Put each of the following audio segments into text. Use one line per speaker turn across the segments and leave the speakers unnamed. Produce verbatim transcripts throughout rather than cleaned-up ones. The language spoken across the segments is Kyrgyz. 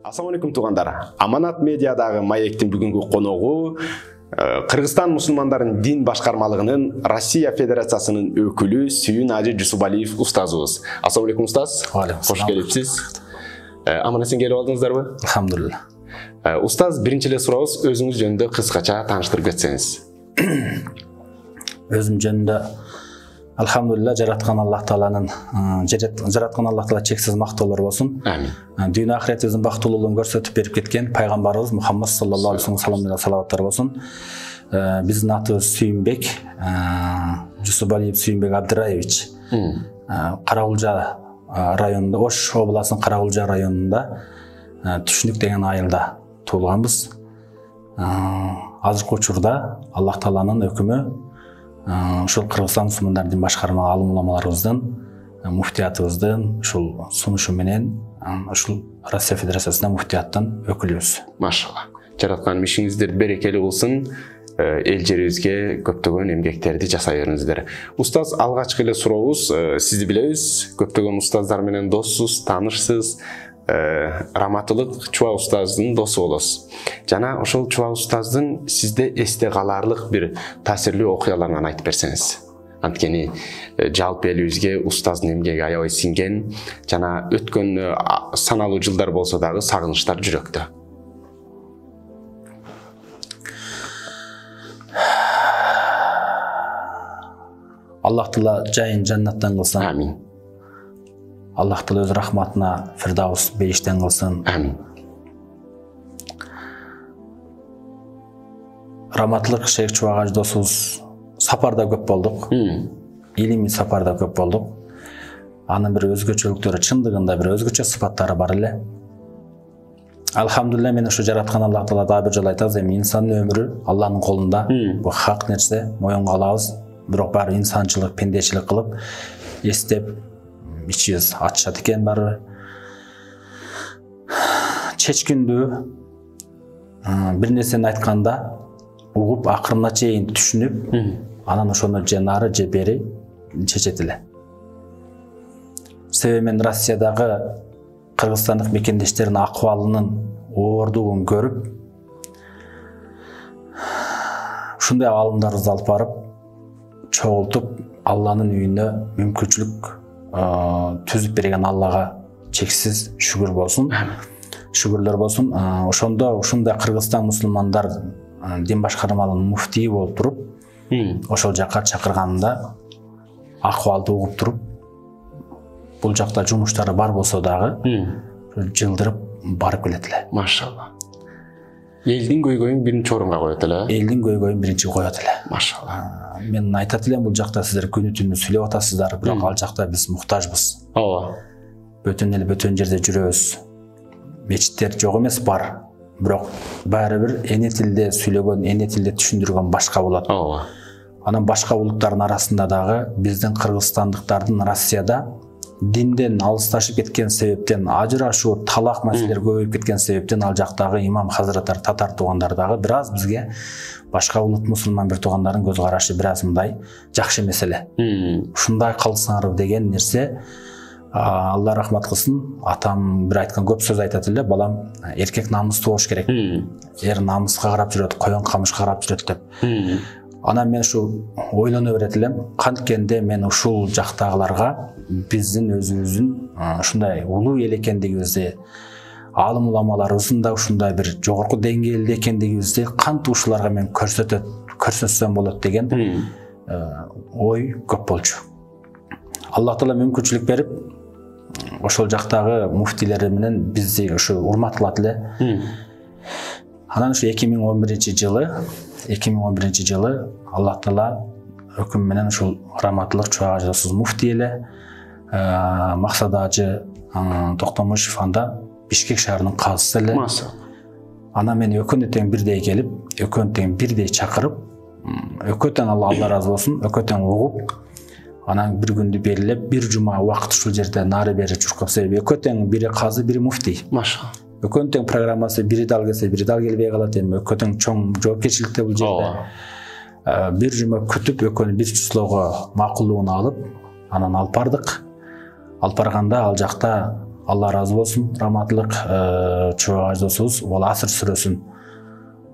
Assalamu alaikum туугандар. Аманат медиадагы маектин бүгүнкү коногу Кыргызстан мусулмандарын дин башкармалыгынын Россия Федерациясынын өкүлү Сүйүн Ажы Жусупалиев устазыбыз. Assalamu alaikum устаз. Кош келипсиз. Аман эсен келип алдыңыздарбы?
Алхамдулилlah.
Устаз, биринчи эле сурообуз, өзүңүз жөнүндө кыскача тааныштырып кетсеңиз.
Өзүм жөнүндө алхамдулилlah, жараткан Аллах Тааланын жараткан Аллах Таала чексиз мактоолор болсун.
Амин.
Дүйнө ахиретибиздин бактылуулугун көрсөтүп берип кеткен пайгамбарыбыз Мухаммад саллаллаху алейхи вассаламга салаваттар болсун. Биздин атыбыз Сүйүнбек, Жусупалиев Сүйүнбек Абдыраевич. Карагулжа районунда, Ош областынын Карагулжа районунда Түшүнүк деген айылда туулганбыз. Азыркы учурда Аллах Тааланын өкүмү ушул Кыргызстан мусулмандарын башкарма алым уламаларыбыздын, муфтиятыбыздын ушул сунушу менен ушул Россия Федерациясынын муфтияттын өкүлүбүз.
Машалла. Жараткан ишиңиздер берекелүү болсун. Эл жерибизге көптөгөн эмгектерди жасай бериңиздер. Устаз, алгачкы эле сурообуз, сизди билебиз, көптөгөн устаздар менен доссуз, таанышсыз. Раматылык Чуа устаздын досу болосуз. Жана ошол Чуа устаздын сизде эсте каларлык бир таасирлүү окуяларын айтып берсеңиз. Анткени жалпы элибизге устаздын эмгеги аябай сиңген, жана өткөн саналуу жылдар болсо дагы сагынычтар жүрөктө.
Аллах Таала жайын жаннаттан кылсын.
Амин.
Аллах Таала өз рахматына Фирдаус бейиштен кылсын.
Амин.
Раматлык Шейх Чуагаж досубуз сапарда көп болдук. Илимий сапарда көп болдук. Анын бир өзгөчөлүктөрү, чындыгында бир өзгөчө сыпаттары бар эле. Алхамдулилlah, мен ушу жараткан Аллах Таала дагы бир жолу айтабыз, эми инсандын өмүрү Алланын колунда. Бул хак нерсе, моюнга алабыз. Бирок баары инсанчылык, пендечилик кылып, эстеп ичибиз ачышат экен баары. Чечкиндүү бир нерсени айтканда угуп, акырына чейин түшүнүп, анан ошону же нары же бери чечет эле. Себеби мен Россиядагы кыргызстандык мекендештердин акыбалынын оордугун көрүп, ушундай алымдарыбызды алып барып, чогултуп, Алланын үйүнө мүмкүнчүлүк түзүп берген Аллага чексиз шүгүр болсун. Шүгүрлөр болсун. Ошондо ушундай Кыргызстан мусулмандар дин башкармалыгынын муфтии болуп туруп, ошол жакка чакырганында акыбалды угуп туруп, бул жакта жумуштары бар болсо дагы жылдырып барып келет эле.
Машалла. Элдин көйгөйүн биринчи орунга коет эле.
Элдин көйгөйүн биринчи коет эле.
Машалла.
Мен айтат элем, бул жакта сиздер күнү түнү сүйлөп атасыздар, бирок ал жакта биз муктажбыз.
Ооба.
Бөтөн эл бөтөн жерде жүрөбүз. Мечиттер жок эмес, бар. Бирок баары бир эне тилде сүйлөгөн, эне тилде түшүндүргөн башка болот.
Ооба.
Анан башка улуттардын арасында дагы биздин кыргызстандыктардын Россияда динден алысташып кеткен себептен, ажырашуу, талак маселелер көбөйүп кеткен себептен ал жактагы имам хазраттар, татар туугандар дагы бир аз бизге башка улут мусулман бир туугандардын көз карашы бир аз мындай жакшы эмес эле. Ушундай кылсаңар деген нерсе, Алла рахмат кылсын, атам бир айткан көп сөз айтат эле, балам, эркек намыстуу болуш керек. Эр намыска карап жүрөт, коён камышка карап жүрөт деп. Анан мен ушу ойлоно берет элем, канткенде мен ушул жактагыларга биздин өзүбүздүн ушундай улуу эл экендигибизди, алым уламаларыбыздын да ушундай бир жогорку деңгээлде экендигибизди кантип ушуларга мен көрсөтөт, көрсөтсөм болот деген ой көп болчу. Аллах Таала мүмкүнчүлүк берип, ошол жактагы муфтилер менен бизди ушу урматталат эле. Анан ушу эки миң он биринчи жылы, эки миң он биринчи жылы Аллах Таала өкүм менен ушул Раматылык Чуагаж досубуз муфти эле, Максат Ажы Токтомушев анда Бишкек шаарынын казысы эле. Анан мен экөөнү тең бирдей келип, экөөнү тең бирдей чакырып, экөө тең Алла ыраазы болсун, экөө тең угуп, анан бир күндү белгилеп, бир жума убакыт ушул жерде нары бери чуркап, себеби экөө тең, бири казы, бири муфти.
Машалла.
Экөөнүн тең программасы, бири дал келсе, бири дал келбей калат, эми экөө тең чоң жоопкерчиликте бул жерде. Бир жума күтүп, экөөнү бир числого макулдугун алып, анан алып бардык. Алып барганда ал жакта Алла ыраазы болсун, раматтылык чубак аждосубуз Уал Аср сүрөсүн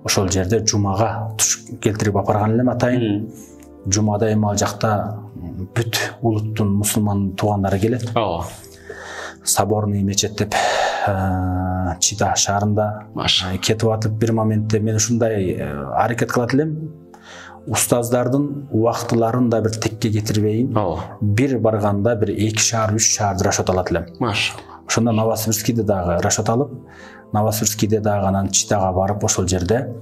ошол жерде жумага туш келтирип апарган элем атайын. Жумада эми ал жакта бүт улуттун мусулман туугандары келет.
Ооба.
Соборный мечет деп Чита шаарында кетип атып, бир моментте мен ушундай аракет кылат элем. Устаздардын убактыларын да бир текке кетирбейин. Бир барганда бир эки шаар, үч шаарды расчет алат элем.
Машалла.
Ошондо Новосибирскийде дагы расчет алып, Новосибирскийде дагы анан Читага барып, ошол жерде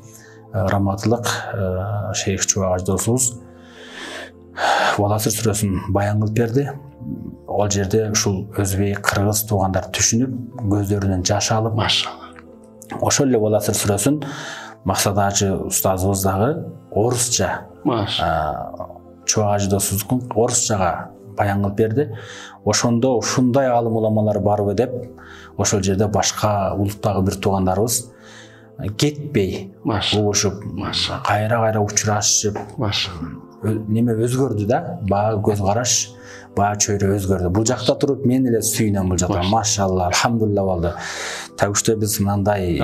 раматтылык шейх чубак аждосубуз Уал Аср сүрөсүн баян кылып берди. Ал жерде ушул өзбек, кыргыз туугандар түшүнүп, көздөрүнөн жаш алып,
машалла.
Ошол эле Уал Аср сүрөсүн Максат Ажы устазыбыз дагы орусча, чубак аждосубуздун орусчага баян кылып берди. Ошондо ушундай алым уламалар барбы деп, ошол жерде башка улуттагы бир туугандарыбыз кетпей, угушуп, кайра-кайра учурашып, неме өзгөрдү да, баягы көз караш, баягы чөйрө өзгөрдү. Бул жакта туруп мен эле сүйүнөм бул жакта. Машалла, алхамдулилла болду. Тагышта биз мындай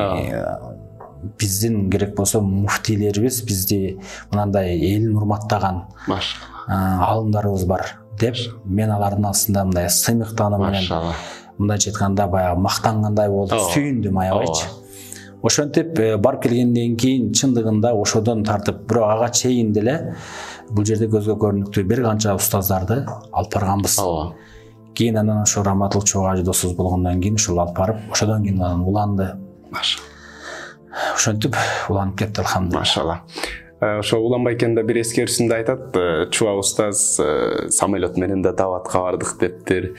биздин керек болсо муфтийлерибиз бизди мынандай элин урматтаган алымдарыбыз бар деп, мен алардын астында мындай сыймыктанып менен мындайча айтканда баягы мактангандай болуп сүйүндүм аябайчы. Ошентип барып келгенден кийин чындыгында ошодон тартып бирок ага чейин деле бул жерде көзгө көрүнүктүү бир канча устаздарды алып барганбыз. Кийин анан ошо раматтылык чубак аждосубуз болгондон кийин ушул алып барып, ошодон кийин анан уланды. Ошентип уланып кетти, алхамдулилла.
Машалла. Ошо уланбай экенде бир эскерүүсүндө айтат, чубак устаз самолет менен да даватка бардык дептир,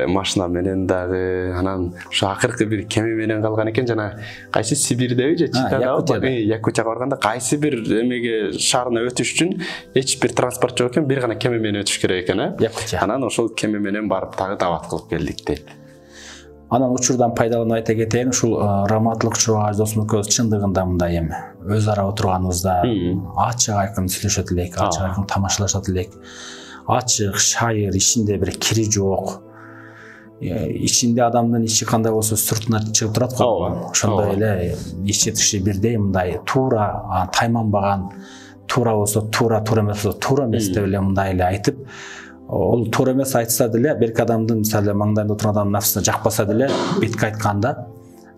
машина менен дагы, анан ошо акыркы бир кеме менен калган экен, жана кайсы Сибирдеби же Читагабы, Якутияга барганда кайсы бир эмеге шаарына өтүш үчүн эч бир транспорт жок экен, бир гана кеме менен өтүш керек экен, э? Анан ошол кеме менен барып дагы дават кылып келдик дейт.
Анан учурдан пайдаланып айта кетейин, ушул раматтылык чубак аждосубуз чындыгында мындай эми өз ара отурганыбызда ачык айкын сүйлөшөт элек, ачык айкын тамашалашат элек. Ачык, шайыр, ичинде бир кири жок. Ичинде адамдын ичи кандай болсо сыртына чыгып турат го. Ошондой эле ичи тышы бирдей, мындай туура, тайманбаган, туура болсо туура, туура эмес болсо туура эмес деп эле мындай эле айтып, ол туура эмес айтса деле, берки адамдын мисалы маңдайында отурган адамдын нафсына жакпаса деле, бетке айтканда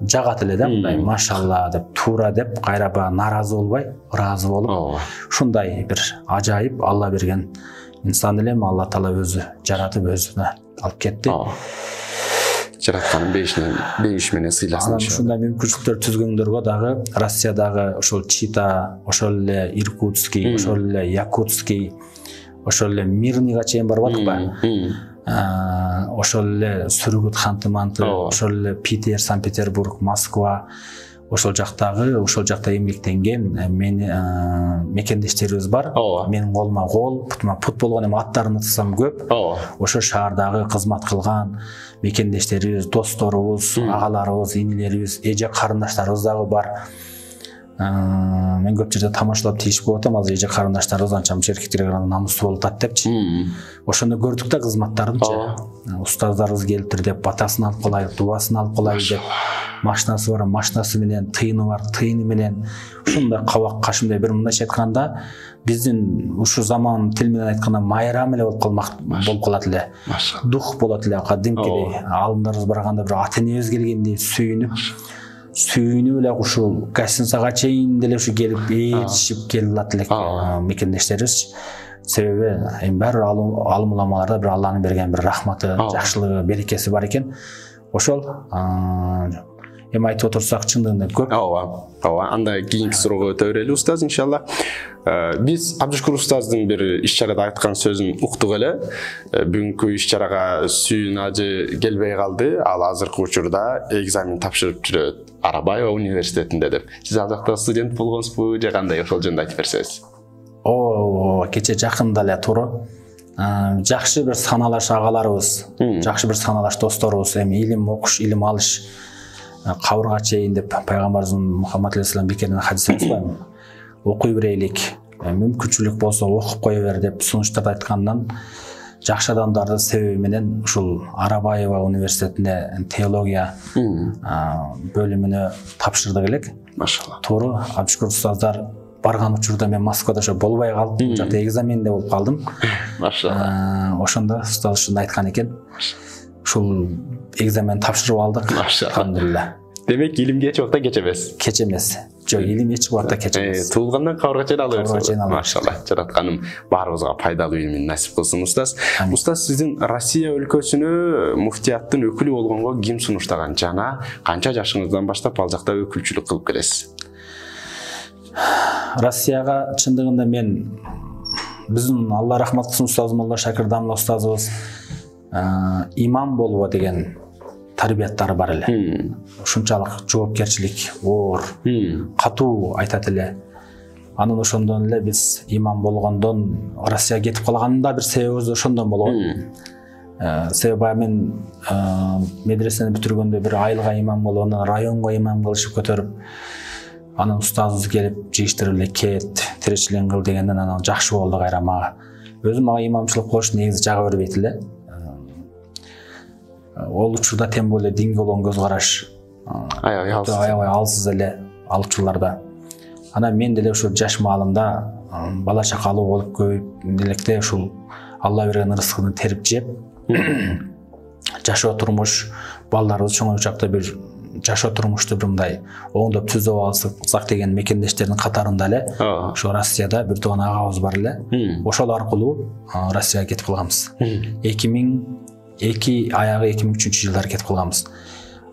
жагат эле да, мындай машалла деп, туура деп, кайра баягы нааразы болбой, ыраазы болуп, ушундай бир ажайып Алла берген инсан элем, Алла Таала өзү жаратып өзүнө алып кетти.
Жаратканын бейишинен, бейиш менен сыйласын.
Анан ушундай мүмкүнчүлүктөр түзгөндөргө дагы Россиядагы ошол Чита, ошол эле Иркутский, ошол эле Якутский, ошол эле Мирныйга чейин барып аттык ба? Ошол эле Сүргүт, Ханты-Манты, ошол эле Питер, Санкт-Петербург, Москва, ошол жактагы, ошол жакта эмгектенген мени мекендештерибиз бар. Менин колума кол, путума пут болгон, эми аттарын атасам көп. Ошо шаардагы кызмат кылган мекендештерибиз, досторубуз, агаларыбыз, инилерибиз, эже карындаштарыбыз дагы бар. Мен көп жерде тамашалап тийишип коюп атам, азыр эже карындаштарыбыз анча мынча эркектерге караганда намустуу болуп атат депчи. Ошондо көрдүк да кызматтарынчы. Устаздарыбыз келиптир деп батасын алып калайлык, дубасын алып калайлык деп, машинасы бар, машинасы менен, тыйыны бар, тыйыны менен, ушундай кабак кашымдай бир мындайча айтканда, биздин ушу заман тил менен айтканда майрам эле болуп калмак болуп калат эле. Дух болот эле, кадимкидей. Алымдарыбыз барганда бир ата энебиз келгендей сүйүнүп, сүйүнүп эле ушул гостиницага чейин деле ушу келип ээрчишип келип алат элек мекендештерибиз. Себеби эми баары алым уламаларда бир Алланын берген бир рахматы, жакшылыгы, берекеси бар экен. Ошол эми айтып отурсак чындыгында көп.
Ооба, ооба. Анда кийинки суроого өтө берели устаз, иншалла. Биз Абдушкур устаздын бир иш-чарада айткан сөзүн уктук эле. Бүгүнкү иш-чарага Сүйүн ажы келбей калды. Ал азыркы учурда экзамен тапшырып жүрөт Арабаева университетинде деп. Сиз ал жакта студент болгонсузбу же кандай, ошол жөнүндө айтып берсеңиз?
О, кече жакында эле туура. Жакшы бир саналаш агаларыбыз, жакшы бир саналаш досторубуз, эми илим окуш, илим алыш кабырга чейин деп пайгамбарыбыз Мухаммад алейхиссалам бекерден хадис айтпайбы? Окуй берейлик, мүмкүнчүлүк болсо окуп кое бер деп сунуштап айткандан жакшы адамдарды себеби менен ушул Арабаева университетине теология бөлүмүнө тапшырдык элек.
Машалла.
Туура Абшкур устаздар барган учурда мен Москвада ошо болбой калдым. Бул жакта экзаменде болуп калдым.
Машалла.
Ошондо устаз ушуну айткан экен. Ушул экзамен тапшырып алдык. Алхамдулилла.
Демек илимге эч убакта кеч эмес.
Кеч эмес. Жок, илим эч убакта кеч эмес.
Туулгандан кабырга чейин ала берсиң.
Машалла.
Жаратканым баарыбызга пайдалуу илимин насип кылсын устаз. Устаз, сиздин Россия өлкөсүнө муфтияттын өкүлү болгонго ким сунуштаган жана канча жашыңыздан баштап ал жакта өкүлчүлүк кылып келесиз?
Россияга чындыгында мен биздин Алла рахмат кылсын устаз Молла Шакир Дамла устазыбыз имам болбо деген тарбияттары бар эле. Ушунчалык жоопкерчилик, оор, катуу айтат эле. Анын ошондон эле биз имам болгондон Россияга кетип калганын да бир себебибиз ошондон болгон. Себеби мен медресени бүтүргөндө бир айылга имам болуп, анан районго имам кылышып көтөрүп, анан устазыбыз келип жыйыштырып эле кет, тиричилигин кыл дегенден анан жакшы болду кайра мага. Өзүм мага имамчылык кылыш негизи жага бербейт эле. Ол учурда тем более динге болгон көз караш аябай алсыз эле ал учурларда. Анан мен деле ошо жаш маалымда бала чакалуу болуп көбөйүп электе ушул Алла берген ырыскыны терип жеп, жашоо турмуш, балдарыбыз чоңоючакта бир жашоо турмушту бир мындай оңдоп түзөп алсак деген мекендештердин катарында эле ошо Россияда бир тууган агабыз бар эле. Ошол аркылуу Россияга кетип калганбыз. эки миң эки аягы эки миң үчүнчү жылдары кетип калганбыз.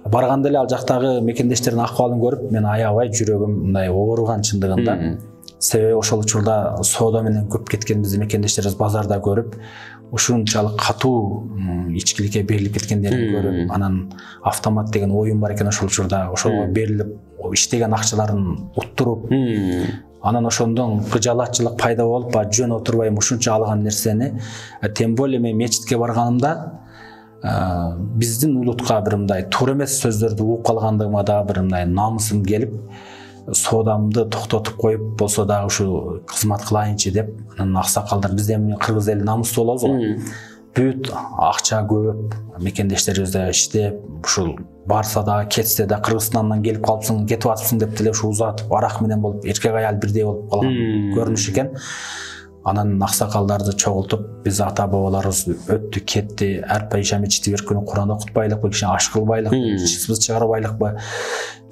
Барганда эле ал жактагы мекендештердин акыбалын көрүп, мен аябай жүрөгүм мындай ооруган чындыгында. Себеби ошол учурда соода менен көп кеткен биздин мекендештерибиз базарда көрүп, ушунчалык катуу ичкиликке берилип кеткендерин көрүп, анан автомат деген оюн бар экен ошол учурда, ошого берилип иштеген акчаларын уттуруп, анан ошондон кыжалатчылык пайда болуп, жөн отурбайм ушунча алган нерсени, тем более мен мечитке барганымда биздин улутка бир мындай туура эмес сөздөрдү угуп калгандыгыма да бир мындай намысым келип, соодамды токтотуп коюп болсо дагы ушу кызмат кылайынчы деп, анан аксакалдар бизде эми кыргыз эли намыстуу болобуз го. Бүт акча көп, мекендештерибиз да иштеп, ушул барса да кетсе да Кыргызстандан келип калыпсың, кетип атыпсың деп деле ушу узатып, арак менен болуп, эркек аял бирдей болуп калган көрүнүш экен. Анан аксакалдарды чогултуп, биз ата бабаларыбыз өттү, кетти, әрпай ишами четвер күнү Куран окутпайлыкпы, кичине аш кылбайлыкпы, чысыбыз чыгарбайлыкпы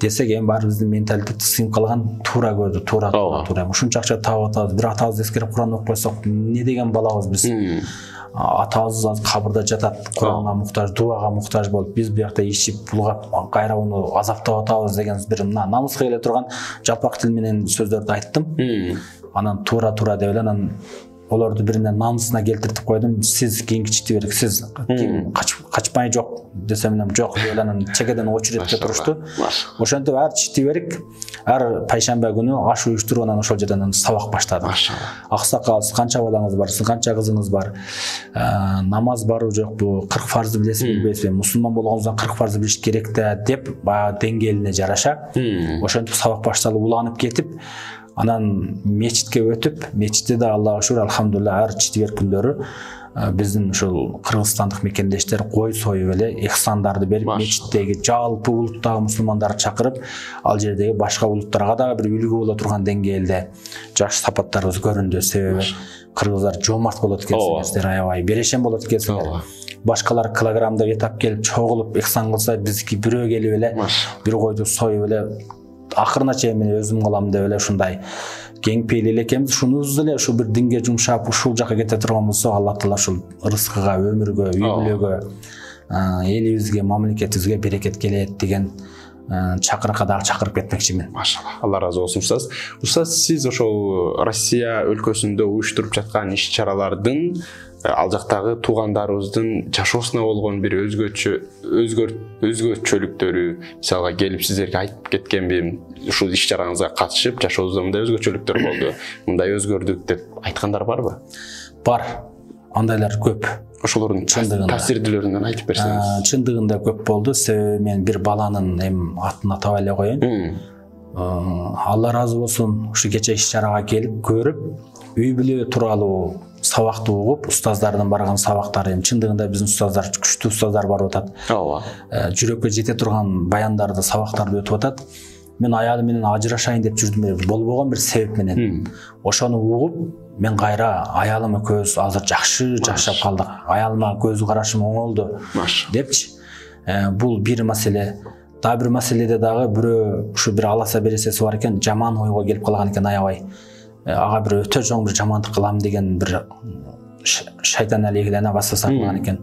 десек, эми баары биздин менталитет сыйынып калган, туура көрдү, туура, туура. Ушунча акча таап атабыз, бир атабыз эскерип Куран окуп койсок, не деген балабыз биз? Атабыз кабырда жатат, Куранга муктаж, дуага муктаж болуп, биз биякта ичип, булгап, кайра уну азаптап атабыз деген бир намыска келе турган жалпак тил менен сөздөрдү айттым. Анан туура-туура деп эле, анан олорду биринен намысына келтиртип койдум. Сиз кийинки четверг, сиз ким качпай жок десем эле жок деп эле анан чекеден очередке турушту. Ошентип ар четверг, ар пайшамба күнү аш уюштуруп анан ошол жерден сабак баштадым. Аксакал, канча балаңыз бар, канча кызыңыз бар, намаз барбы жокпу, кырк фарзды билесизби билбейсизби, мусулман болгонуңуздан кырк фарзды билиш керек да деп, баягы деңгээлине жараша ошентип сабак башталып уланып кетип, анан мечитке өтүп, мечитте да Аллага шүгүр, алхамдулилла, ар четверг күндөрү биздин ушул кыргызстандык мекендештер кой союп эле ихсандарды берип, мечиттеги жалпы улуттагы мусулмандарды чакырып, ал жердеги башка улуттарга да бир үлгү боло турган деңгээлде жакшы сапаттарыбыз көрүндү. Себеби кыргыздар жомарт болот экенсиңер, аябай берешен болот экенсиңер. Башкалар килограммдап этап келип чогулуп ихсан кылса, биздики бирөө келип эле бир койду союп эле акырына чейин мен өзүм кылам деп эле ушундай кең пейил эле экенбиз. Ушунубуз эле ушу бир динге жумшап, ушул жака кете турган болсо, Алла Таала ушул рызкыга, өмүргө, үй бүлөгө, элибизге, мамлекетибизге берекет келет деген чакырыкка дагы чакырып кетмекчимин.
Машалла. Алла разы болсун устаз. Устаз, сиз ошол Россия өлкөсүндө уюштуруп жаткан иш-чаралардын ал жактагы туугандарыбыздын жашоосуна болгон бир өзгөчө өзгөчөлүктөрү, мисалга келип сиздерге айтып кеткенбин, ушул иш-чараңызга катышып, жашообузда мындай өзгөчөлүктөр болду, мындай өзгөрдүк деп айткандар барбы?
Бар. Андайлар көп.
Ошолордун таасирдүүлөрүнөн айтып берсеңиз.
Чындыгында көп болду. Себеби мен бир баланын эми атын атабай эле коеюн. Алла разы болсун, ушу кече иш-чарага келип көрүп, үй бүлө тууралуу сабакты угуп, устаздардын барган сабактары, эми чындыгында биздин устаздар күчтүү устаздар барып атат.
Ооба.
Жүрөккө жете турган баяндарды, сабактарды өтүп атат. Мен аялым менен ажырашайын деп жүрдүм, болбогон бир себеп менен. Ошону угуп, мен кайра аялым экөөбүз азыр жакшы жашап калдык. Аялыма көз карашым оңолду депчи. Бул бир маселе. Дагы бир маселеде дагы бирөө ушу бир аласа бересеси бар экен, жаман ойго келип калган экен аябай. Ага бир өтө чоң бир жамандык кылам деген бир шайтан алейхилана басаса кылган экен.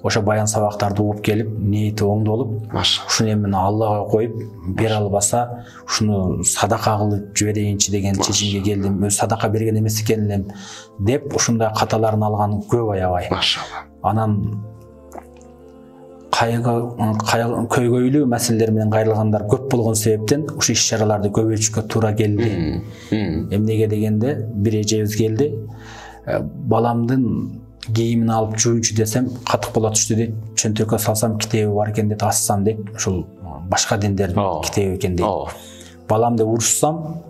Ошо баян сабактарды угуп келип, ниети оңдолуп, ушуну эми Аллага коюп, бере албаса, ушуну садака кылып жиберейинчи деген чечимге келдим. Өз садака берген эмес экен элем деп, ушундай каталарын алган көп аябай.
Машалла.
Анан кайгы көйгөйлүү маселелер менен кайрылгандар көп болгон себептен ушу иш-чараларды көбөйтүшкө туура келди. Эмнеге дегенде, бир эжебиз келди. Баламдын кийимин алып жуйчу десем, катык боло түштү дейт. Чөнтөккө салсам китеби бар экен дейт, ассам дейт. Ушул башка диндердин китеби экен дейт. Баламды урушсам,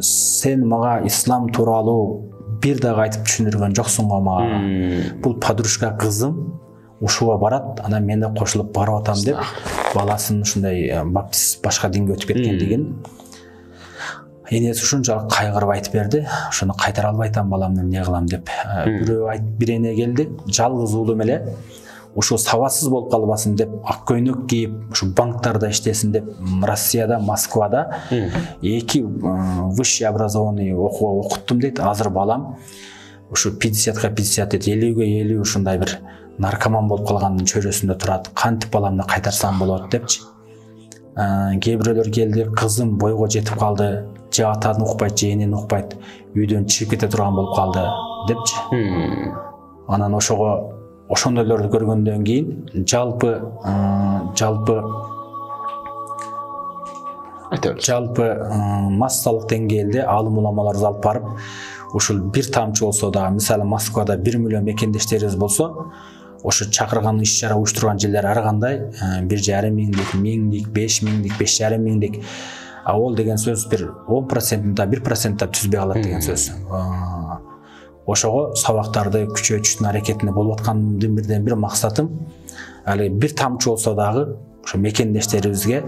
сен мага ислам тууралуу бир дагы айтып түшүндүргөн жоксуң го мага. Бул подружка кызым ушуга барат, анан мен да кошулуп барып атам деп, баласын ушундай баптист башка динге өтүп кеткендигин энеси ушунчалык кайгырып айтып берди. Ошону кайтара албай атам баламды, эмне кылам деп. Бирөө айтып, бир эне келди, жалгыз уулум эле ушу сабатсыз болуп калбасын деп, ак көйнөк кийип, ушу банктарда иштесин деп, Россияда, Москвада эки высший образованный окууга окуттум дейт. Азыр балам ушу пятьдесятка пятьдесят дейт, элүүгө элүү ушундай бир наркоман болуп калгандын чөйрөсүндө турат. Кантип баламды кайтарсам болот депчи. Кээ бирөөлөр келди, кызым бойго жетип калды, же атаны укпайт, же энени укпайт, үйдөн чыгып кете турган болуп калды депчи. Анан ошого ошондойлорду көргөндөн кийин жалпы жалпы жалпы массалык деңгээлде алым уламаларды алып барып, ушул бир тамчы болсо да, мисалы Москвада бир миллион мекендештерибиз болсо, ошо чакырган иш-чара уюштурган жерлер ар кандай бир жарым миңдик, миңдик, беш миңдик, беш жарым миңдик. А ол деген сөз бир он процент да бир процент да түзбөй калат деген сөз. Ошого сабактарды күчөтүштүн аракетинде болуп аткандын бирден бир максатым, али бир тамчы болсо дагы ошо мекендештерибизге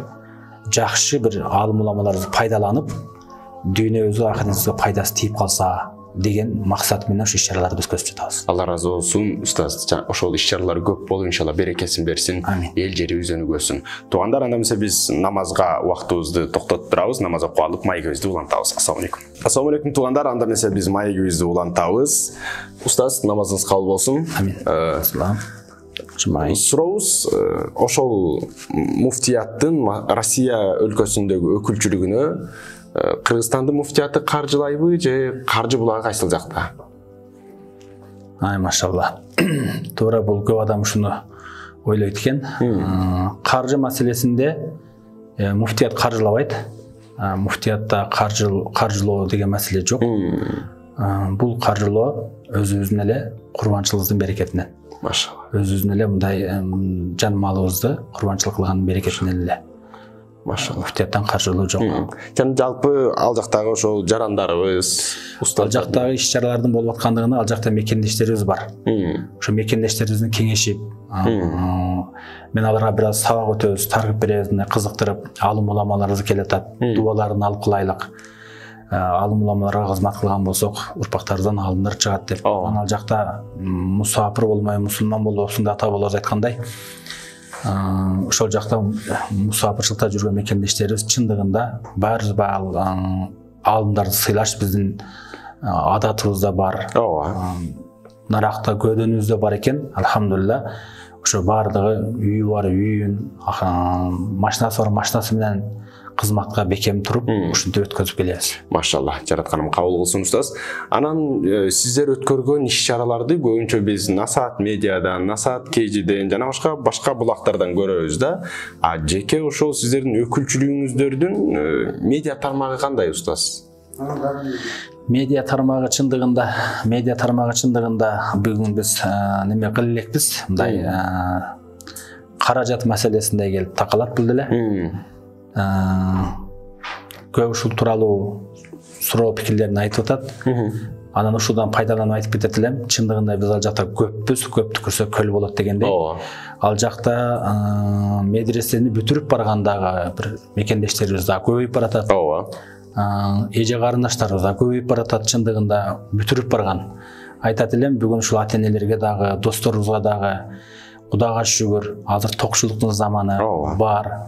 жакшы бир алым уламаларды пайдаланып, дүйнөбүзгө, ахиретибизге пайдасы тийип калса деген максат менен ушу иш-чараларды өткөзүп жатабыз.
Алла разы болсун, устаз. Ошол иш-чаралар көп болуп, иншалла берекесин берсин, эл жерибиз өнүгөсүн. Туугандар, анда эмесе биз намазга убактыбызды токтотуп турабыз, намаз окуп алып маегибизди улантабыз. Ассаламу алейкум. Ассаламу алейкум туугандар, анда эмесе биз маегибизди улантабыз. Устаз, намазыңыз кабыл болсун.
Амин. Салам.
Сурообуз, ошол муфтияттын Россия өлкөсүндөгү өкүлчүлүгүнө Кыргызстандын муфтияты каржылайбы же каржы булагы кайсыл жакта?
Ай, машалла. Туура, бул көп адам ушуну ойлойт экен. Каржы маселесинде муфтият каржылабайт. Муфтиятта каржылоо деген маселе жок. Бул каржылоо өзүбүздүн эле курбанчылыгыбыздын берекетинен.
Машалла.
Өзүбүздүн эле мындай жан малыбызды курбанчылык кылгандын берекетинен эле.
Машалла.
Муфтияттан каржылоо жок.
Жана жалпы ал жактагы ошол жарандарыбыз,
устал жактагы иш-чаралардын болуп аткандыгына ал жакта мекендештерибиз бар. Ошо мекендештерибиздин кеңешип, мен аларга бир аз сабак өтөбүз, таргып беребиз, кызыктырып, алым уламаларыбыз келатат, дубаларын алып кылайлык. Алым уламаларга кызмат кылган болсок, урпактарыбыздан алымдар чыгат деп. Ал жакта мусафир болмой, мусулман болобсуң да ата бабаларыбыз айткандай. Ошол жакта мусафирчылыкта жүргөн мекендештерибиз чындыгында баарыбыз алымдарды сыйлаш биздин адатыбызда бар. Ооба. Наракта көдөнүбүздө бар экен, алхамдулилла. Ошо баардыгы үйү бар үйүн, машинасы бар машинасы менен кызматка бекем туруп, ушинтип өткөзүп келебиз. Машалла, жаратканым кабыл кылсын устаз. Анан сиздер өткөргөн иш-чараларды көбүнчө биз Насаат медиадан, Насаат Кежиден жана башка башка булактардан көрөбүз да. А жеке ошол сиздердин өкүлчүлүгүңүздөрдүн медиа тармагы кандай устаз? Медиа тармагы чындыгында, медиа тармагы чындыгында бүгүн биз неме кыла элекпиз, мындай каражат маселесинде келип такалат бул деле. көп ушул тууралуу суроо пикирлерин айтып атат. Анан ушудан пайдаланып айтып кетет элем. Чындыгында биз ал жакта көппүз, көп түкүрсө көл болот дегендей. Ал жакта медресени бүтүрүп баргандагы бир мекендештерибиз да көбөйүп баратат. Ооба. Эже карындаштарыбыз да көбөйүп баратат, чындыгында бүтүрүп барган. Айтат элем, бүгүн ушул ата-энелерге дагы, досторубузга дагы Кудайга шүгүр, азыр токчулуктун заманы бар.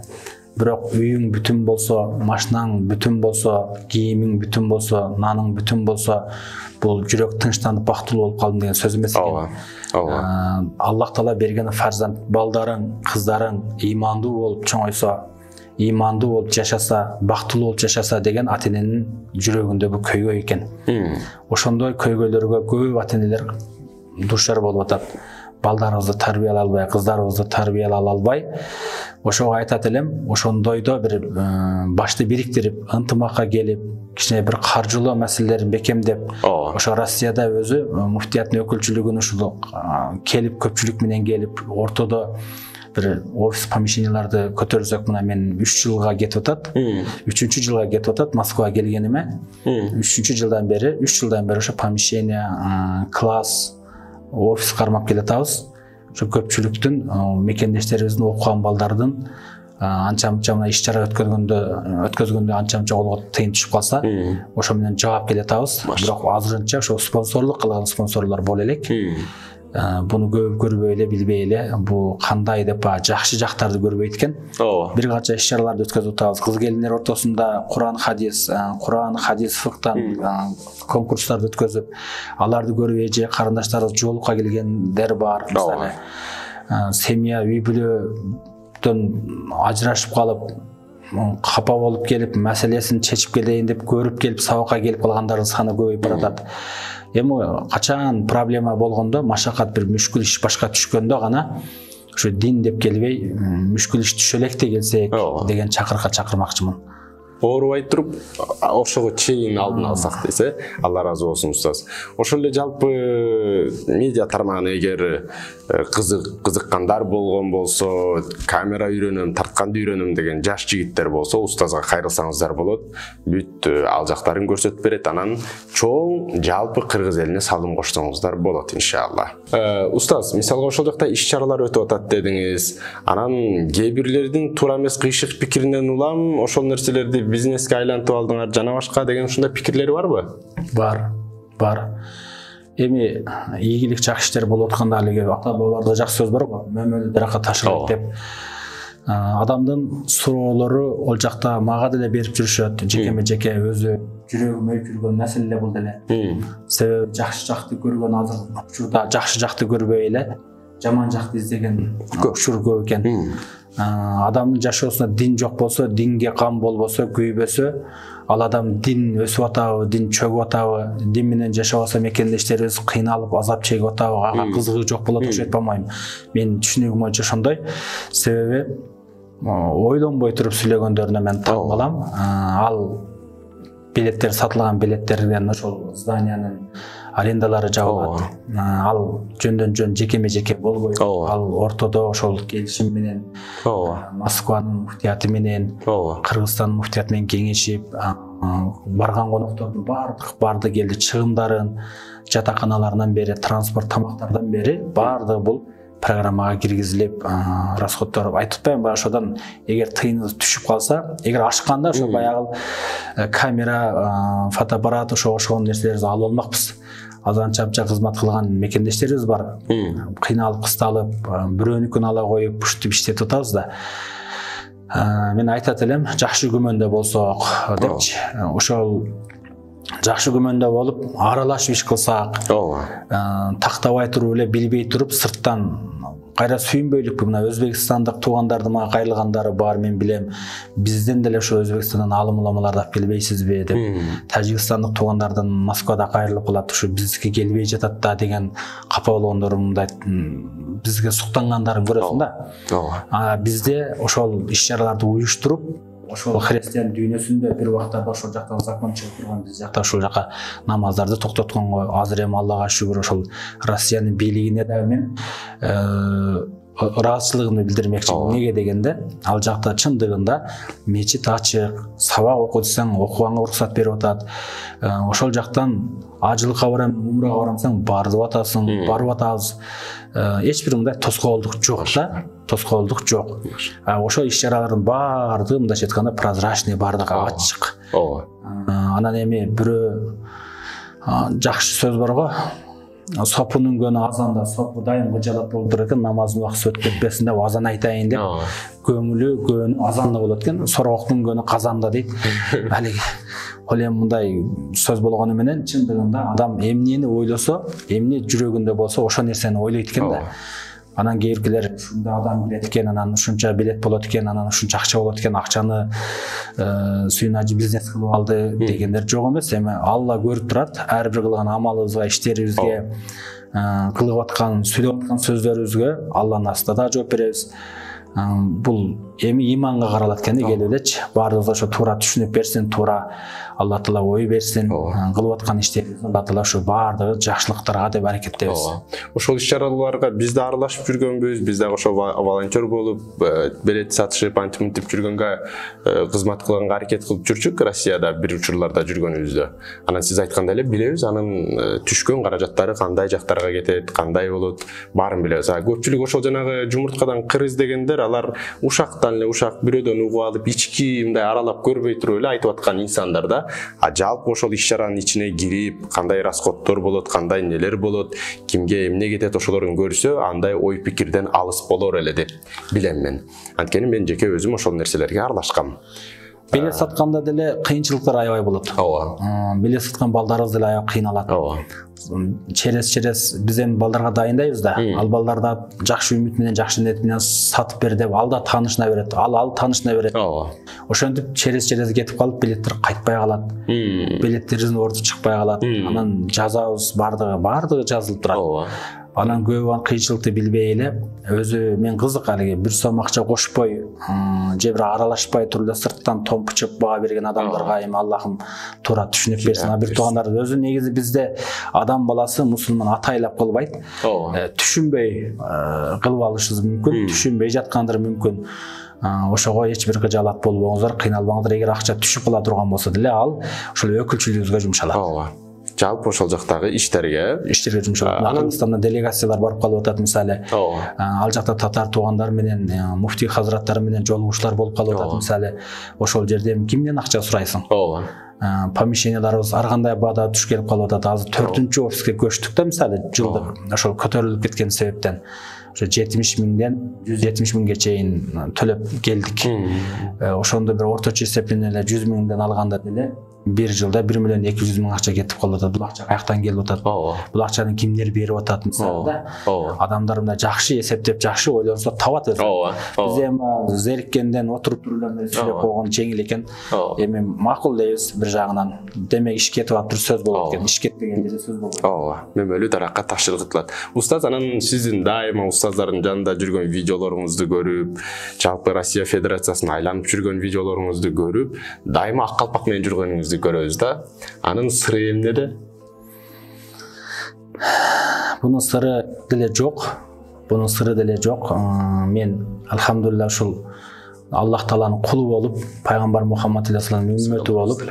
Бирок үйүң бүтүн болсо, машинаң бүтүн болсо, кийимиң бүтүн болсо, наның бүтүн болсо, бул жүрөк тынчтанып бактылуу болуп калдым деген сөз эмес экен. Ооба. Аллах Таала берген фарзанд балдарың, кыздарың ыймандуу болуп чоңойсо, ыймандуу болуп жашаса, бактылуу болуп жашаса деген ата-эненин жүрөгүндөгү көйгөй экен. Ошондой көйгөйлөргө көп ата-энелер душар болуп атат. Балдарыбызды тарбиялай албай, кыздарыбызды тарбиялай албай, ошого айтат элем, ошондойдо бир башты бириктирип, ынтымакка келип, кичине бир каржылоо маселелерин бекемдеп, ошо Россияда өзү муфтияттын өкүлчүлүгүн ушул келип, көпчүлүк менен келип, ортодо бир офис помещенияларды көтөрсөк, мына мен үч жылга кетип атат. үчүнчү жылга кетип атат Москвага келгениме. үчүнчү жылдан бери, үч жылдан бери ошо помещение, класс, офис кармап келатабыз. Ошо көпчүлүктүн, мекендештерибиздин, окуган балдардын анча-мынча мына иш-чара өткөргөндө, өткөзгөндө анча-мынча колго тыйын түшүп калса, ошо менен жаап келатабыз. Бирок азырынча ошо спонсорлук кылган спонсорлор боло элек. Буну көп көрбөй эле, билбей эле, бул кандай деп жакшы жактарды көрбөйт экен. Бир канча иш-чараларды өткөзүп атабыз. Кыз келиндер ортосунда Куран хадис, Куран хадис фыктан конкурстарды өткөзүп, аларды көрүп эже карындаштарыбыз жолукка келгендер бар. Мисалы, семья үй бүлөдөн ажырашып калып, капа болуп келип, маселесин чечип келейин деп көрүп келип, сабакка келип калгандардын саны көбөйүп баратат. Эми качан проблема болгондо, машакат бир мүшкүл иш башка түшкөндө гана ошо дин деп келбей, мүшкүл иш түшө элек де келсек деген чакырыкка чакырмакчымын.
Оорубай туруп, ошого чейин алдын алсак десе, Алла ыраазы болсун устаз. Ошол эле жалпы медиа тармагына эгер кызык кызыккандар болгон болсо, камера үйрөнөм, тартканды үйрөнөм деген жаш жигиттер болсо, устазга кайрылсаңыздар болот. Бүт ал жактарын көрсөтүп берет, анан чоң жалпы кыргыз элине салым кошсоңуздар болот иншалла. Устаз, мисалга ошол жакта иш-чаралар өтүп атат дедиңиз. Анан кээ бирлердин туура эмес кыйшык пикиринен улам ошол нерселерди бизнеске айлантып алдыңар жана башка деген ушундай пикирлери барбы?
Бар, бар. Эми ийгилик жакшы иштер болуп атканда алиги ата бабаларда жакшы сөз бар го, мөмөлү даракка ташылат деп. Адамдын суроолору ол жакта мага деле берип жүрүшөт, жекеме-жеке өзү жүрөгүм өйүп жүргөн маселе бул деле. Себеби жакшы жакты көргөн азыр учурда жакшы жакты көрбөй эле, жаман жакты издеген учур көп экен. Адамдын жашоосунда дин жок болсо, динге кам болбосо, күйбөсө, ал адам дин өсүп атабы, дин чөгүп атабы, дин менен жашабаса мекендештерибиз кыйналып, азап чегип атабы, ага кызыгуу жок болот окшойт болмойм. Мен түшүнүгүм боюнча ошондой. Себеби ойлонбой туруп сүйлөгөндөрүнө мен таң калам. Ал билеттер сатылган билеттерден ошол зданиянын арендалары жабылат. Ал жөндөн жөн жекеме-жеке болбойт. Ал ортодо ошол келишим менен Москванын муфтияты менен, Кыргызстандын муфтияты менен кеңешип, барган коноктордун бардык барды келди чыгымдарын, жатаканаларынан бери, транспорт тамактардан бери бардыгы бул программага киргизилип, расходдор айтып атпайм ба, ошодон эгер тыйыныбыз түшүп калса, эгер ашканда ошо баягы камера, фотоаппарат, ошо ошол нерселерди алып алмакпыз. Азыр анча-мынча кызмат кылган мекендештерибиз бар. Кыйналып, кысталып, бирөөнүкүн ала коюп, ушинтип иштетип атабыз да. Мен айтат элем, жакшы күмөндө болсок депчи. Ошол жакшы күмөндө болуп, аралашып иш кылсак, тактабай туруп эле, билбей туруп, сырттан кайра сүйүнбөйлүкпү. Мына Өзбекстандык туугандарды мага кайрылгандары бар, мен билем. Бизден деле ошо Өзбекстандан алым уламаларды алып келбейсизби деп. Тажикстандык туугандардан Москвада кайрылып калат, ушу бизге келбей жатат да деген капа болгондор мындай бизге суктангандарын көрөсүң да. Бизде ошол иш-чараларды уюштуруп, ошол христиан дүйнөсүндө бир убактарда ошол жактан закон чыгып турган, биз жакта ошол жака намаздарды токтотконго азыр эми Аллага шүгүр ошол Россиянын бийлигине дагы мен ыраазычылыгымды билдирмекчимин. Неге дегенде, ал жакта чындыгында мечит ачык, сабак оку десең окуганга уруксат берип атат. Ошол жактан ажылыкка барам, умрага барам десең барып атасың, барып атабыз. Эч бир мындай тоскоолдук жок да, тоскоолдук жок. Ошол иш-чаралардын баардыгы мындайча айтканда прозрачный, баардыгы ачык. Ооба. Анан эми бирөө жакшы сөз бар го. Сопун үнгөнү азанда, сопу дайым кыжалат болуп турат экен, намаздын убакыты өтүп кетпесин деп азан айтайын деп. Көңүлү көөнү азанда болот экен, сорогоктун үнгөнү казанда дейт. Алиги ол эми мындай сөз болгону менен чындыгында адам эмнени ойлосо, эмне жүрөгүндө болсо ошол нерсени ойлойт экен да. Анан кээбиркилер ушундай адам билет экен, анан ушунча билет болот экен, анан ушунча акча болот экен, акчаны сүйүнө бизнес кылып алды дегендер жок эмес. Эми Алла көрүп турат, ар бир кылган амалыбызга, иштерибизге, кылып аткан, сүйлөп аткан сөздөрүбүзгө Алланын астында да жооп беребиз. Бул эми иманга каралат экен, келип элечи. Баардыгыбызга ошо туура түшүнүп берсин, туура Алла Таала ой берсин, кылып аткан иштерибизди Алла Таала ошо баардыгы жакшылыктарга деп аракеттебиз.
Ошол иш-чараларга биз да аралашып жүргөнбүз, биз дагы ошо волонтер болуп, билет сатышып, антип мынтип жүргөнгө кызмат кылганга аракет кылып жүрчүк Россияда бир учурларда жүргөнүбүздө. Анан сиз айткандай эле билебиз, анын түшкөн каражаттары кандай жактарга кетет, кандай болот, баарын билебиз. Көпчүлүк ошол жанагы жумурткадан кыр издегендер, алар ушактан эле ушак бирөөдөн угуп алып, ички мындай аралап көрбөй туруп эле айтып аткан инсандар да. А жалпы ошол иш-чаранын ичине кирип, кандай расходдор болот, кандай нелер болот, кимге эмне кетет, ошолорун көрсө, андай ой пикирден алыс болор эле деп билем мен. Анткени мен жеке өзүм ошол нерселерге аралашкам.
Билет сатканда деле кыйынчылыктар аябай болот. Ооба. Билет саткан балдарыбыз деле аябай кыйналат. Ооба. Через-через биз эми балдарга дайындайбыз да. Ал балдар да жакшы үмүт менен, жакшы ниет менен сатып бер деп, ал да таанышына берет, ал ал таанышына берет. Ооба. Ошентип через-через кетип калып, билеттер кайтпай калат. Билеттерибиздин орду чыкпай калат. Анан жазабыз, баардыгы, баардыгы жазылып турат. Ооба. Анан көбү кыйынчылыкты билбей эле, өзү мен кызык алиги бир сом акча кошпой, же бир аралашпай туруп эле сырттан томпучуп баа берген адамдарга эми Аллахым туура түшүнүп берсин. Бир туугандар өзү негизи бизде адам баласы мусулман атайлап кылбайт. Түшүнбөй кылып алышыбыз мүмкүн, түшүнбөй жаткандыр мүмкүн. Ошого эч бир кыжаалат болбоңуздар, кыйналбаңыздар. Эгер акча түшүп кала турган болсо деле ал ошол өкүлчүлүгүбүзгө жумшалат. Ооба.
Жалпы ошол жактагы иштерге
иштерге жумшалат. Кыргызстандан делегациялар барып калып атат мисалы. Ал жакта татар туугандар менен, муфтий хазраттары менен жолугушуулар болуп калып атат мисалы. Ошол жерде кимден акча сурайсың? Ооба. Помещенияларыбыз ар кандай баада туш келип калып атат. Азыр төртүнчү офиске көчтүк да мисалы, жылдык ошол көтөрүлүп кеткен себептен. Ошо жетимиш миңден жүз жетимиш миңге чейин төлөп келдик. Ошондо бир орточо эсеп менен эле жүз миңден алганда деле бир жылда бир миллион эки жүз миң акча кетип калып атат. Бул акча каяктан келип атат? Бул акчаны кимдер берип атат мисалы да? Адамдар мындай жакшы эсептеп, жакшы ойлонсо табат өзү. Биз эми зериккенден отуруп туруп эле сүйлөп койгон жеңил экен. Эми макул дейбиз бир жагынан. Демек иш кетип атып сөз болот экен. Иш кетпеген жерде сөз болбойт. Ооба.
Мөмөлүү даракка ташчылык кылат. Устаз, анан сиздин дайыма устаздардын жанында жүргөн видеолоруңузду көрүп, жалпы Россия Федерациясын айланып жүргөн видеолоруңузду көрүп, дайыма ак калпак менен жүргөнүңүздү көрөбүз да. Анын сыры эмнеде?
Бунун сыры деле жок. Бунун сыры деле жок. Мен алхамдулилла ушул Аллах Тааланын кулу болуп, пайгамбар Мухаммад алейхиссаламдын үммөтү болуп,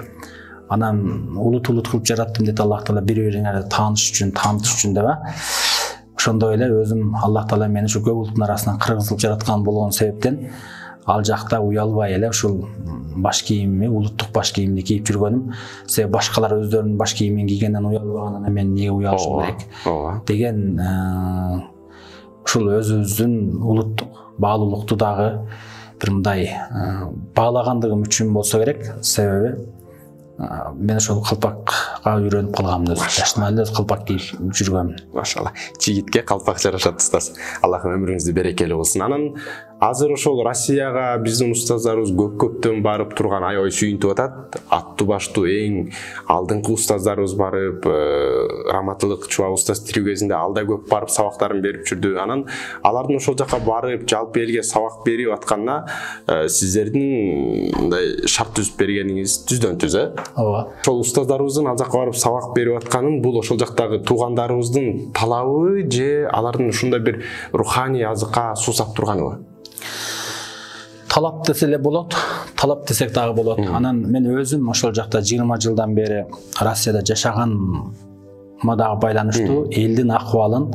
анан улут-улут кылып жараттым дейт Аллах Таала, бири-бириңерди тааныш үчүн, таанытыш үчүн деп. Ошондой эле өзүм Аллах Таала мени ушу көп улуттун арасынан кыргызылып жараткан болгон себептен ал жакта уялбай эле ушул баш кийимми, улуттук баш кийимди кийип жүргөнүм. Себеби башкалар өздөрүнүн баш кийимин кийгенден уялбаганына мен эмне уялышым керек деген ушул өзүбүздүн улуттук баалуулукту дагы бир мындай баалагандыгым үчүн болсо керек. Себеби мен ошол калпакка үйрөнүп калганмын өзү. Жаштан эле калпак кийип жүргөм.
Машалла. Жигитке калпак жарашат устаз. Аллах өмүрүңүздү берекелүү кылсын. Анан азыр ошол Россияга биздин устаздарыбыз көп-көптөн барып турган аябай сүйүнтүп атат. Аттуу баштуу эң алдыңкы устаздарыбыз барып, Раматылык Чуба устаз тирүү кезинде алда көп барып сабактарын берип жүрдү. Анан алардын ошол жака барып, жалпы элге сабак берип атканда сиздердин мындай шарт түзүп бергениңиз түздөн түз, э?
Ооба.
Ошол устаздарыбыздын ал жака барып сабак берип атканын бул ошол жактагы туугандарыбыздын талабы же алардын ушундай бир руханий азыкка суусап турганыбы?
Талап десе эле болот, талап десек дагы болот. Анан мен өзүм ошол жакта жыйырма жылдан бери Россияда жашаганма дагы байланыштуу элдин акыбалын,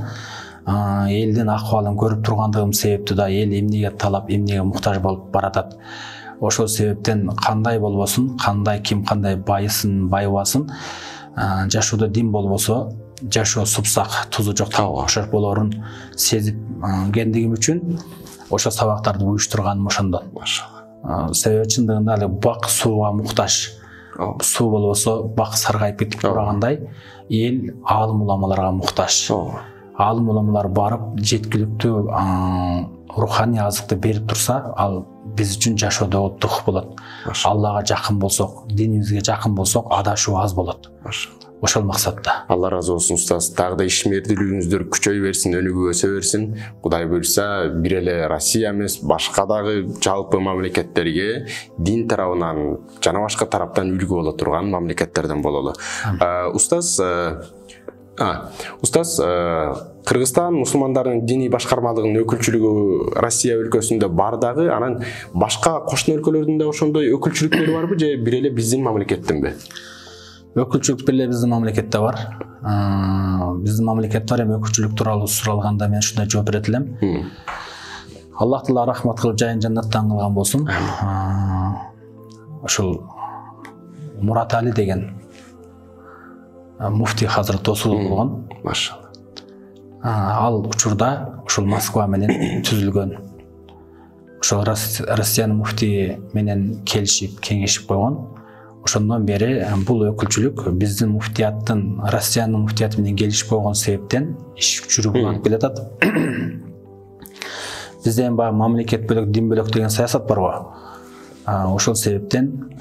элдин акыбалын көрүп тургандыгым себептүү да эл эмнеге талап, эмнеге муктаж болуп баратат. Ошол себептен кандай болбосун, кандай ким кандай байысын, байыбасын, жашоодо дин болбосо жашоо супсак, тузу жок тамакка окшош болорун сезип кендигим үчүн ошо сабактарды уюштурганым ошондон. Машалла. Себеби чындыгында эле бак сууга муктаж. Суу болбосо бак саргайып кетип тургандай, эл аалым уламаларга муктаж. Аалым уламалар барып жеткиликтүү руханий азыкты берип турса, ал биз үчүн жашоодо дух болот. Аллага жакын болсок, динибизге жакын болсок, адашуу аз болот. Ошол максатта.
Алла разы болсун устаз. Дагы да ишмердүүлүгүңүздөр күчөй берсин, өнүгүп өсө берсин. Кудай буйрса, бир эле Россия эмес, башка дагы жалпы мамлекеттерге дин тарабынан жана башка тараптан үлгү боло турган мамлекеттерден бололу. Устаз, а, устаз, Кыргызстан мусулмандарынын диний башкармалыгынын өкүлчүлүгү Россия өлкөсүндө бар дагы, анан башка кошуна өлкөлөрдүн да ошондой өкүлчүлүктөрү барбы же бир эле биздин мамлекеттенби?
Өкүлчүлүк бир эле биздин мамлекетте бар. Биздин мамлекетте бар, эми өкүлчүлүк тууралуу суралганда мен ушундай жооп берет элем. Аллах Таала рахмат кылып жайын жаннаттан кылган болсун. Ошол Мурат Али деген муфтий Хазрат Досулов болгон.
Машалла.
Ал учурда ушул Москва менен түзүлгөн. Ошол Россиянын муфтии менен келишип, кеңешип койгон. Ошондон бери бул өкүлчүлүк биздин муфтияттын, Россиянын муфтияты менен келишип койгон себептен иш жүрүп алып келатат. Бизде эми баягы мамлекет бөлөк, дин бөлөк деген саясат барбы? Ошол себептен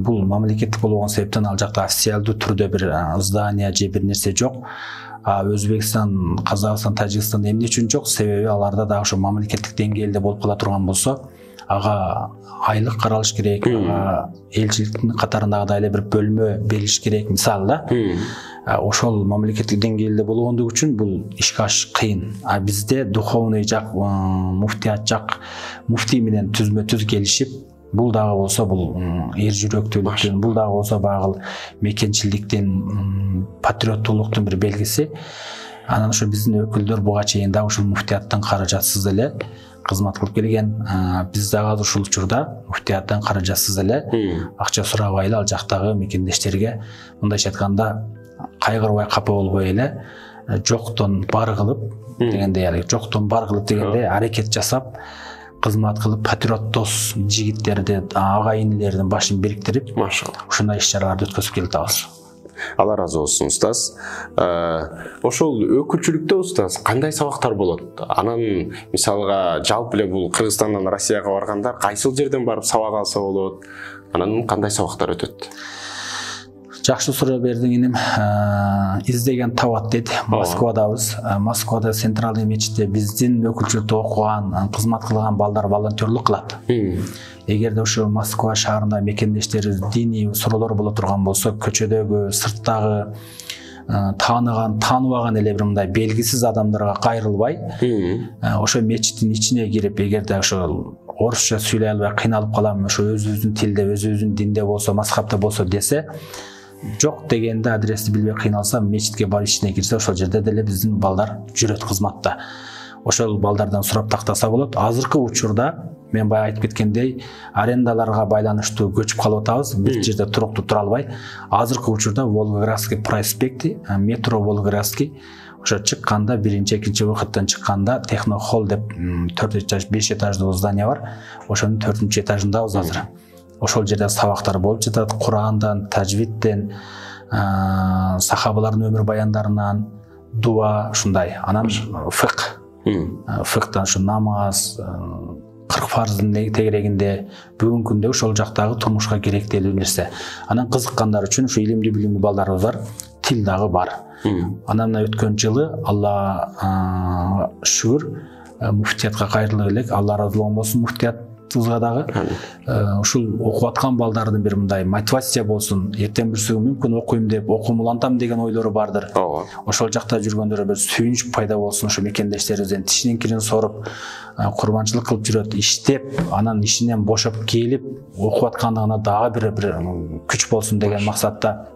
бул мамлекеттик болгон себептен ал жакта официалдуу түрдө бир здание же бир нерсе жок. Өзбекстан, Казакстан, Тажикстан эмне үчүн жок? Себеби аларда дагы ошо мамлекеттик деңгээлде болуп кала турган болсо, ага айлык каралыш керек, ага элчиликтин катарындагы да эле бир бөлмө берилиш керек, мисалы да. Ошол мамлекеттик деңгээлде болгондугу үчүн бул ишке ашыш кыйын. А бизде духовный жак, муфтият жак муфтий менен түзмө-түз келишип, бул дагы болсо бул эр жүрөктүүлүктүн, бул дагы болсо багыл мекенчиликтин, патриоттуулуктун бир белгиси. Анан ошо биздин өкүлдөр буга чейин да ушул муфтияттан каражатсыз эле кызмат кылып келген. Биз дагы ушул учурда муфтияттан каражатсыз эле акча сурабай эле ал жактагы мекендештерге, мындайча айтканда, кайгырбай капа болбой эле жоктон бар кылып дегендей, эле жоктон бар кылып дегендей аракет жасап, кызмат кылып, патриоттос жигиттерди, агайынлердин башын бириктирип, машалла, ушундай иш-чараларды өткөзүп келатабыз.
Алла разы болсун устаз. Ошол өкүлчүлүктө устаз кандай сабактар болот? Анан мисалга жалпы эле бул Кыргызстандан Россияга баргандар кайсыл жерден барып сабак алса болот? Анан кандай сабактар өтөт?
Жакшы суроо бердиң иним. Издеген табат дейт. Москвадабыз. Москвада Центральный мечитте биздин өкүлчүлүктө окуган, кызмат кылган балдар волонтерлук кылат. Эгерде ошо Москва шаарында мекендештерибиз диний суроолор боло турган болсо, көчөдөгү, сырттагы тааныган, тааныбаган эле бир мындай белгисиз адамдарга кайрылбай, ошо мечиттин ичине кирип, эгерде ошо орусча сүйлөй албай кыйналып калам, ошо өзүбүздүн тилде, өзүбүздүн динде болсо, мазхабта болсо десе, жок дегенде адрести билбей кыйналса, мечитке барып ичине кирсе, ошол жерде деле биздин балдар жүрөт кызматта. Ошол балдардан сурап тактаса болот. Азыркы учурда мен баягы айтып кеткендей, арендаларга байланыштуу көчүп калып атабыз. Бир жерде туруктуу тура албай. Азыркы учурда Волгоградский проспекти, метро Волгоградский ошо чыкканда, биринчи, экинчи вакыттан чыкканда Технохолл деп төрт этаж, беш этаждуу здание бар. Ошонун төртүнчү этажындабыз азыр. Ошол жерде сабактар болуп жатат. Курандан, тажвидден, сахабалардын өмүр баяндарынан, дуа, ушундай. Анан фикх. Фикхтан ушу намаз, кырк фарздын тегерегинде бүгүнкү күндө ошол жактагы турмушка керектелүү нерсе. Анан кызыккандар үчүн ушу илимдүү билимдүү балдарыбыз бар, тил дагы бар. Анан өткөн жылы Алла шүгүр муфтиятка кайрылып элек, Алла ыраазы болсун муфтиятыбызга дагы ушул окуп аткан балдардын бир мындай мотивация болсун, эртең бүрсүгү мүмкүн окуйм деп, окумулантам деген ойлору бардыр. Ошол жакта жүргөндөргө бир сүйүнүч пайда болсун, ошо мекендештерибизден тишинин кирин соруп, курбанчылык кылып жүрөт, иштеп, анан ишинен бошоп келип окуп аткандыгына дагы бир бир күч болсун деген максатта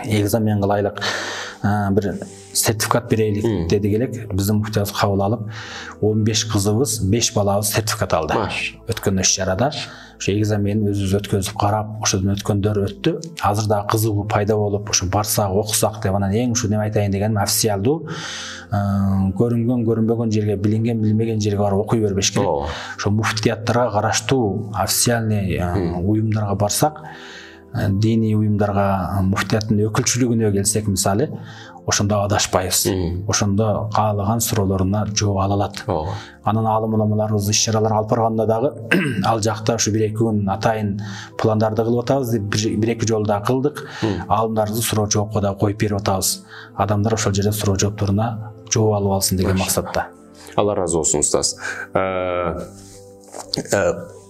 экзамен кылайлык, бир сертификат берелик дедик элек. Биздин муфтиябыз кабыл алып, он беш кызыбыз, беш балабыз сертификат алды. Өткөн иш-чарада ошо экзаменин өзүбүз өткөзүп карап, ошодон өткөндөр өттү. Азыр дагы кызыгуу пайда болуп, ошо барсак, окусак деп, анан эң ушу неме айтайын дегеним, официалдуу көрүнгөн, көрүнбөгөн жерге, билинген, билинбеген жерге барып окуй бербеш керек. Ошо муфтияттарга караштуу официальный уюмдарга барсак, диний уюмдарга, муфтияттын өкүлчүлүгүнө келсек мисалы, ошондо адашпайбыз. Ошондо каалаган суроолоруна жооп ала алат. Анан алым уламаларыбыз иш-чаралар алып барганда дагы ал жакта ушу бир эки күн атайын пландарды кылып атабыз деп бир эки жолу да кылдык. Алымдарды суроо жоопко да коюп берип атабыз. Адамдар ошол жерде суроо жоопторуна жооп алып алсын деген максатта.
Алла ыраазы болсун устаз.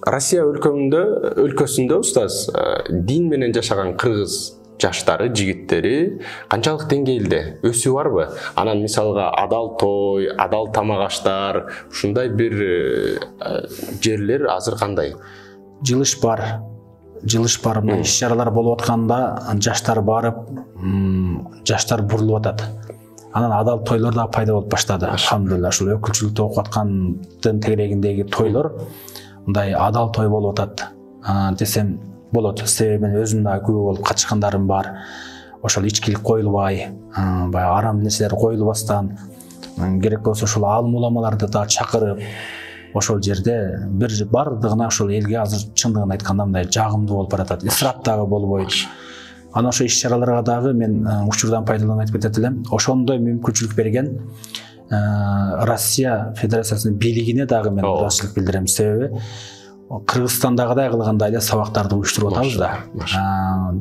Россия өлкөсүндө өлкөсүндө устаз дин менен жашаган кыргыз жаштары, жигиттери канчалык деңгээлде өсүү барбы? Анан мисалга адал той, адал тамак аштар, ушундай бир жерлер азыр кандай?
Жылыш бар. Жылыш бар. Мына иш-чаралар болуп атканда жаштар барып, жаштар бурулуп атат. Анан адал тойлор да пайда болуп баштады. Алхамдулилла, ушул өкүлчүлүктө окуп аткандын тегерегиндеги тойлор мындай адал той болуп атат десем болот. Себеби мен өзүм да күбө болуп катышкандарым бар. Ошол ичкилик коюлбай, баягы арам нерселер коюлбастан, керек болсо ошол алым уламаларды да чакырып, ошол жерде бир бардыгына ошол элге азыр чындыгын айтканда мындай жагымдуу болуп баратат. Исрап дагы болбойт. Анан ошо иш-чараларга дагы мен учурдан пайдаланып айтып кетет элем. Ошондой мүмкүнчүлүк берген Россия Федерациясынын бийлигине дагы мен ыраазычылык билдирем. Себеби Кыргызстандагыдай кылгандай эле сабактарды уюштуруп атабыз да.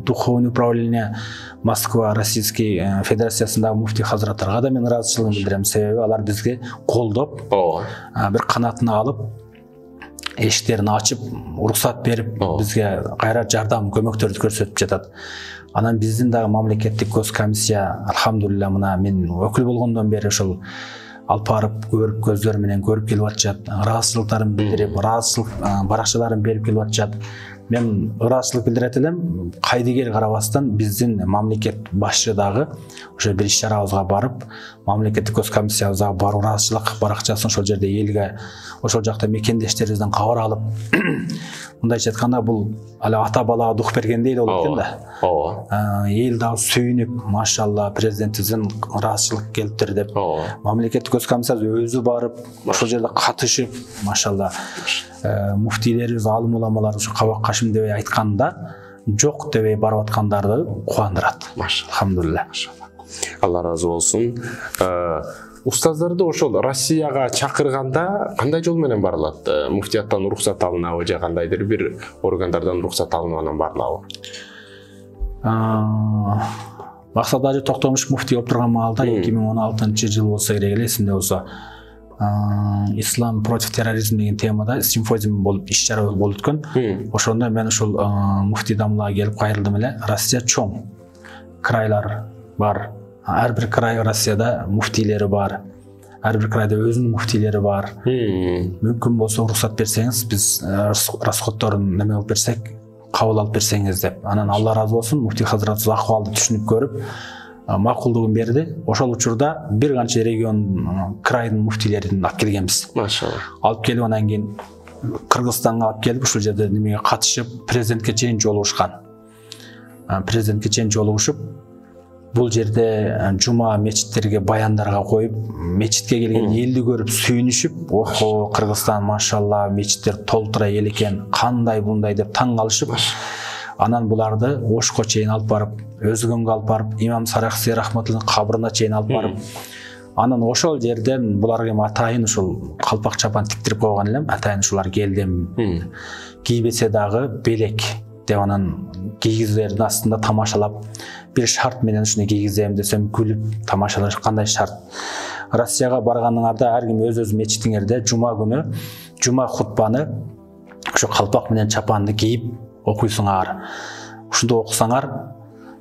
Духовный управление Москва Российский Федерациясындагы муфтий хазраттарга да мен ыраазычылыгымды билдирем. Себеби алар бизге колдоп, бир канатына алып, эшиктерин ачып, уруксат берип, бизге кайра жардам, көмөктөрдү көрсөтүп жатат. Анан биздин дагы мамлекеттик госкомиссия, алхамдулилла, мына мен өкүл болгондон бери ошол алып барып көрүп, көздөр менен көрүп келип атышат, ыраазычылыктарын билдирип, ыраазычылык баракчаларын берип келип атышат. Мен ыраазычылык билдирет элем, кайдыгер карабастан биздин мамлекет башчы дагы ошо бир иш-чарабызга барып, мамлекеттик госкомиссиябызга барып ыраазычылык баракчасын ошол жерде элге, ошол жакта мекендештерибизден кабар алып, мындайча айтканда бул али ата балага дух бергендей эле болот экен да. Ооба. Эл дагы сүйүнүп, машалла, президентибизден ыраазычылык келиптир деп, мамлекеттик госкомиссиябыз өзү барып, ошол жерде катышып, машалла, муфтийлерибиз, алым уламалар ушу кабак кашым дебей айтканда, жок дебей барып аткандарды кубандырат. Алхамдулилла.
Алла ыраазы болсун. Устаздарды ошол Россияга чакырганда кандай жол менен барылат? Муфтияттан уруксат алынабы же кандайдыр бир органдардан уруксат алынгандан барылабы?
Максат Ажы Токтомуш муфтий болуп турган маалда эки миң он алтынчы жыл болсо керек эле, эсимде болсо, ислам против терроризм деген темада симфозиум болуп, иш-чара болуп өткөн. Ошондо мен ушул муфтий дамлага келип кайрылдым эле. Россия чоң, крайлар бар. Ар бир край Россияда муфтийлери бар. Ар бир крайда өзүнүн муфтийлери бар. Мүмкүн болсо уруксат берсеңиз, биз расходторун неме кылып берсек, кабыл алып берсеңиз деп. Анан Алла ыраазы болсун, муфтий хазратыбыз акыбалды түшүнүп көрүп, макулдугун берди. Ошол учурда бир канча регион, крайдын муфтийлерин алып келгенбиз. Машалла. Алып келип анан кийин Кыргызстанга алып келип, ушул жерде немеге катышып, президентке чейин жолугушкан. Президентке чейин жолугушуп, бул жерде жума мечиттерге, баяндарга коюп, мечитке келген элди көрүп сүйүнүшүп, охо, Кыргызстан машалла, мечиттер толтура эл экен, кандай bunday деп таң калышып, анан буларды Ошко чейин алып барып, Өзгөнгө алып барып, имам Саракси рахматуллахтын кабырына чейин алып барып, Анан ошол жерден буларга эми атайын ушул калпак чапан тиктирип койгон элем. Атайын ушулар келдим. Кийбесе дагы белек деп анан кийгизердин астында тамашалап, бир шарт менен ушуну кийгизем десем күлүп тамашалаш. Кандай шарт? Россияга барганыңарда ар ким өз-өз мечитиңерде жума күнү жума хутбаны ошо калпак менен чапанды кийип окуйсуңар. Ушунда окусаңар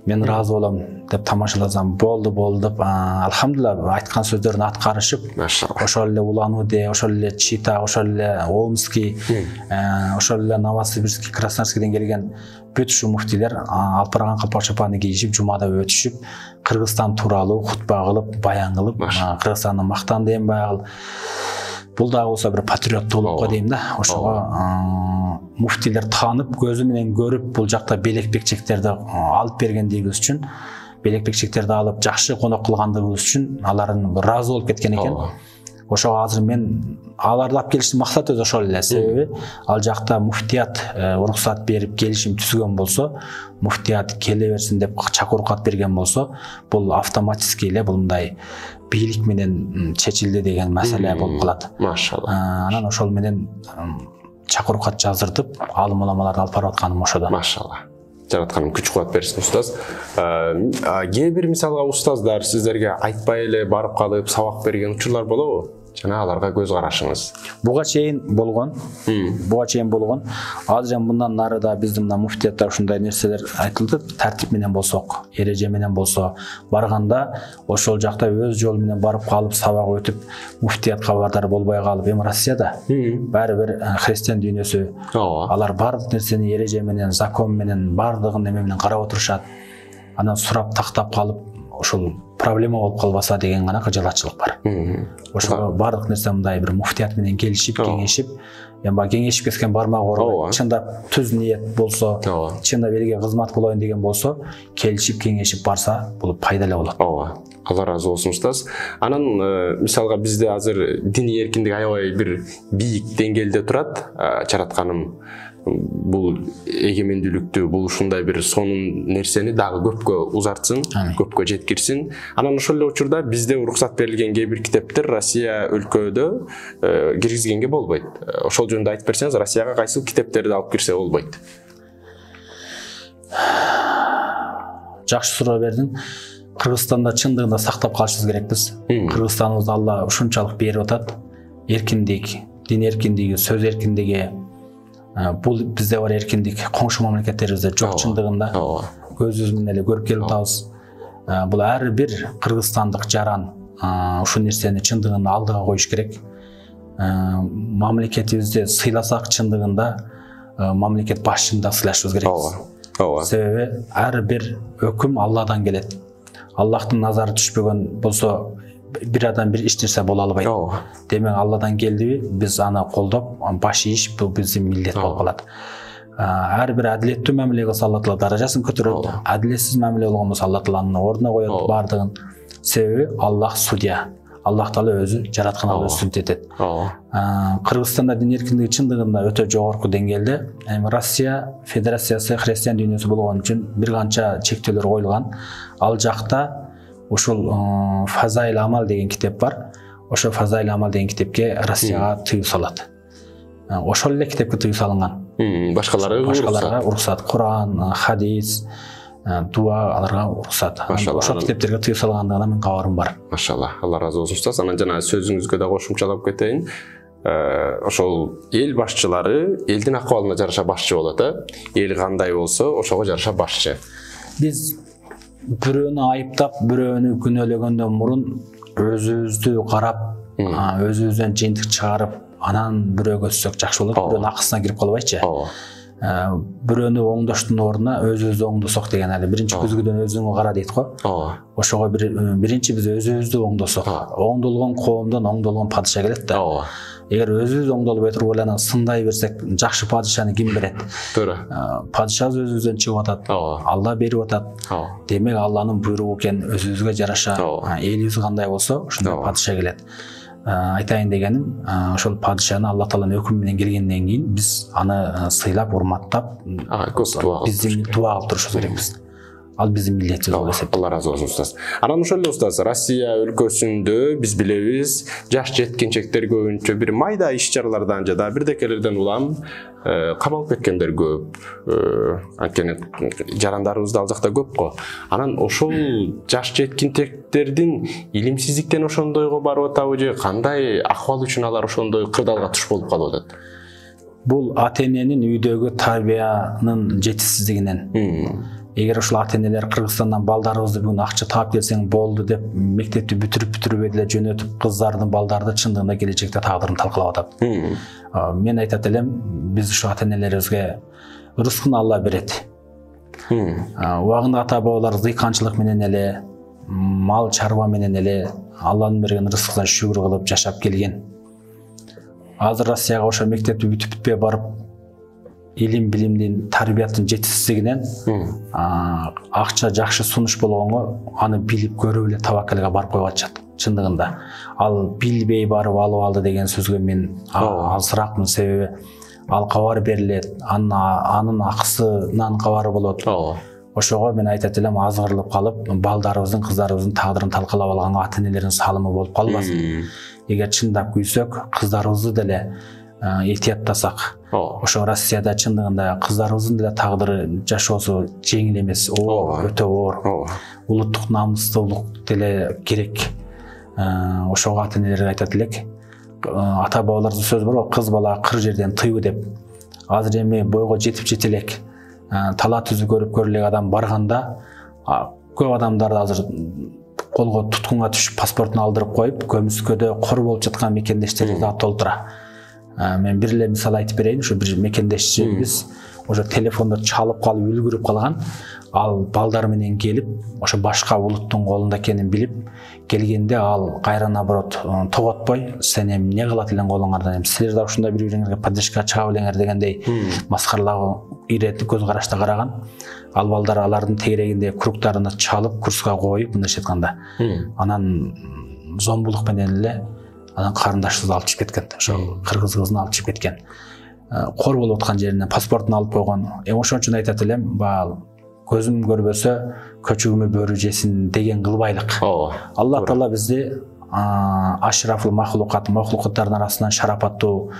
мен ыраазы болом деп тамашаласам. Болду болду деп алхамдулилла айткан сөздөрүн аткарышып, ошол эле Улан-Удэ, ошол эле Чита, ошол эле Омский, ошол эле Новосибирский, Красноярскийден келген бүт ушу муфтийлер алып барган калпак чапанды кийишип жумада өтүшүп, Кыргызстан тууралуу хутба кылып, баян кылып, Кыргызстанды мактанды эм баягыл. Бул дагы болсо бир патриоттуулукко дейм да. Ошого муфтийлер таанып, көзү менен көрүп, бул жакта белек бекчектерди алып бергендигибиз үчүн, белек бекчектерди алып жакшы конок кылгандыгыбыз үчүн алардын ыраазы болуп кеткен экен. Ошого азыр мен аларды алып келиштин максаты өзү ошол эле. Себеби ал жакта муфтият уруксат берип келишим түзгөн болсо, муфтият келе берсин деп чакыруук берген болсо, бул автоматически эле бул мындай бийлик менен чечилди деген маселе болуп калат.
Машалла.
Анан ошол менен чакыруу кат жаздыртып, алым уламаларды алып барып атканым ошодо.
Машалла. Жаратканым күч кубат берсин устаз. Кээ бир мисалга устаздар сиздерге айтпай эле барып калып сабак берген учурлар болобу? Жана аларга көз карашыңыз.
Буга чейин болгон. Буга чейин болгон. Азыр эми мындан нарыда биздин мына муфтиятта ушундай нерселер айтылды. Тартип менен болсок, эреже менен болсо, барганда ошол жакта өз жолу менен барып калып сабак өтүп, муфтият кабардар болбой калып, эми Россияда баары бир христиан дүйнөсү. Алар бардык нерсени эреже менен, закон менен, бардыгын эме менен карап отурушат. Анан сурап тактап калып, ошол проблема болуп калбаса деген гана кыжалатчылык бар. Ошого бардык нерсе мындай бир муфтият менен келишип, кеңешип, эми баягы кеңешип кеткен бармак оорубайт. Чындап түз ниет болсо, чындап элге кызмат кылайын деген болсо, келишип, кеңешип барса, бул пайдалуу болот.
Ооба. Алла разы болсун устаз. Анан мисалга бизде азыр диний эркиндик аябай бир бийик деңгээлде турат. Жаратканым бул эгемендүүлүктү, бул ушундай бир сонун нерсени дагы көпкө узартсын, көпкө жеткирсин. Анан ошол эле учурда бизде уруксат берилген кээ бир китептер Россия өлкөдө киргизгенге болбойт. Ошол жөнүндө айтып берсеңиз, Россияга кайсыл китептерди алып кирсе болбойт?
Жакшы суроо бердиң. Кыргызстанда чындыгында сактап калышыбыз керекпиз. Кыргызстаныбызды Алла ушунчалык берип атат. Эркиндик, дин эркиндиги, сөз эркиндиги, бул бизде бар эркиндик коңшу мамлекеттерибизде жок чындыгында. Көзүбүз менен эле көрүп келип атабыз. Бул ар бир кыргызстандык жаран ушул нерсени чындыгында алдыга коюш керек. Мамлекетибизди сыйласак чындыгында мамлекет башчыны да сыйлашыбыз керекпиз. Себеби ар бир өкүм Алладан келет. Аллахтын назары түшпөгөн болсо бир адам бир эч нерсе боло албайт. Демек Алладан келдиби, биз аны колдоп, баш ийиш бул биздин милдет болуп калат. Ар бир адилеттүү мамиле кылса Алла Таала даражасын көтөрөт. Адилетсиз мамиле болгон болсо Алла Тааланын ордуна коет бардыгын. Себеби Аллах судья. Аллах Таала өзү жаратканды сүннөт этет. Кыргызстанда дин эркиндиги чындыгында өтө жогорку деңгээлде. Эми Россия Федерациясы христиан дүйнөсү болгон үчүн бир канча чектөөлөр коюлган. Ал жакта ушул Фазаил Амал деген китеп бар. Ошо Фазаил Амал деген китепке Россияга тыюу салат. Ошол эле китепке тыюу салынган.
Башкалары
башкаларга уруксат. Куран, хадис, дуа аларга уруксат. Ошол китептерге тыюу салгандыгынан мен кабарым бар.
Машалла. Алла разы болсун устаз. Анан жана сөзүңүзгө да кошумчалап кетейин. Ошол эл башчылары элдин акыбалына жараша башчы болот, э? Эл кандай болсо, ошого жараша башчы.
Биз бирөөнү айыптап, бирөөнү күнөөлөгөндөн мурун өзүбүздү карап, өзүбүздөн жыйынтык чыгарып, анан бирөөгө өтсөк жакшы болот. Бирөөнүн акысына кирип калбайчы. Бирөөнү оңдоштун ордуна өзүбүздү оңдосок деген эле биринчи көзгөдөн өзүңө кара дейт го. Ошого биринчи биз өзүбүздү оңдосок, оңдолгон коомдон оңдолгон падыша келет да. Эгер өзүбүз оңдолбой туруп эле анан сындай берсек, жакшы падышаны ким берет? Туура. Падышабыз өзүбүздөн чыгып атат. Алла берип атат. Демек Алланын буйругу экен, өзүбүзгө жараша элибиз кандай болсо, ошондой падыша келет. Айтайын дегеним, ошол падышаны Алла Тааланын өкүмү менен келгенден кийин биз аны сыйлап, урматтап, биздин дуа кылып турушубуз керекпиз. ал биздин милдетибиз болуп эсептейт.
Алла разы болсун устаз. Анан ошол эле устаз, Россия өлкөсүндө биз билебиз, жаш жеткинчектер көбүнчө бир майда иш-чаралардан жада бирдекелерден улам камалып кеткендер көп. Анткени жарандарыбыз да ал жакта көп го. Анан ошол жаш жеткинчектердин илимсиздиктен ошондойго барып атабы же кандай акыбал үчүн алар ошондой кырдаалга туш болуп калып атат?
Бул ата-эненин үйдөгү тарбиянын жетишсиздигинен. Эгер ошол ата-энелер Кыргызстандан балдарыбызды бүгүн акча таап келсең болду деп мектепти бүтүрүп бүтүрбөй деле жөнөтүп кыздардын балдарды чындыгында келечекте тагдырын талкалап атат. Мен айтат элем, биз ушу ата-энелерибизге рызкын Алла берет. Убагында ата-бабалар зыйканчылык менен эле, мал чарба менен эле Алланын берген рызкына шүгүр кылып жашап келген. Азыр Россияга ошо мектепти бүтүп бүтпөй барып илим билимдин тарбияттын жетишсиздигинен акча жакшы сунуш болгонго аны билип көрүп эле табакалга барып коюп атышат. Чындыгында ал билбей барып алып алды деген сөзгө мен алсыракмын, себеби ал кабар берилет, анын акысынан кабары болот. Ошого мен айтат элем, азгырылып калып балдарыбыздын, кыздарыбыздын тагдырын талкалап алганга ата-энелердин салымы болуп калбасын. Эгер чындап күйсөк, кыздарыбызды деле этияттасак, ошо Россияда чындыгында кыздарыбыздын деле тагдыры жашоосу жеңил эмес, оор, өтө оор. Улуттук намыстуулук деле керек. Ошого ата-энелерге айтат элек, ата-бабалардын сөзү бар, кыз бала кыр жерден тыйбы деп. Азыр эми бойго жетип жете элек, тала түзү көрүп көрө элек адам барганда, көп адамдар азыр колго туткунга түшүп паспортун алдырып коюп, көмүскөдө кор болуп жаткан мекендештерибиз да толтура. Мен бир эле мисал айтып берейин, ушу бир мекендешчибиз ошо телефонду чалып калып үлгүрүп калган, ал балдар менен келип, ошо башка улуттун колунда экенин билип келгенде ал кайра наоборот тоготпой, сен эми эмне кылат элең колуңардан, эми силер да ушундай бири-бириңерге поддержка чыга белеңер дегендей маскаралагы ирет көз карашта караган. Ал балдар алардын тегерегинде кругтарына чалып, курска коюп, мындайча айтканда, анан зомбулук менен эле анан карындашыбызды алып чыгып кеткен, ошо кыргыз кызын алып чыгып кеткен. Кор болуп аткан жеринен паспортун алып койгон. Эми ошон үчүн айтат элем, баал көзүм көрбөсө көчүгүмө бөрү жесин деген кылбайлык. Алла Таала бизди ашрафул махлукат, махлукаттардын арасынан шарапаттуу,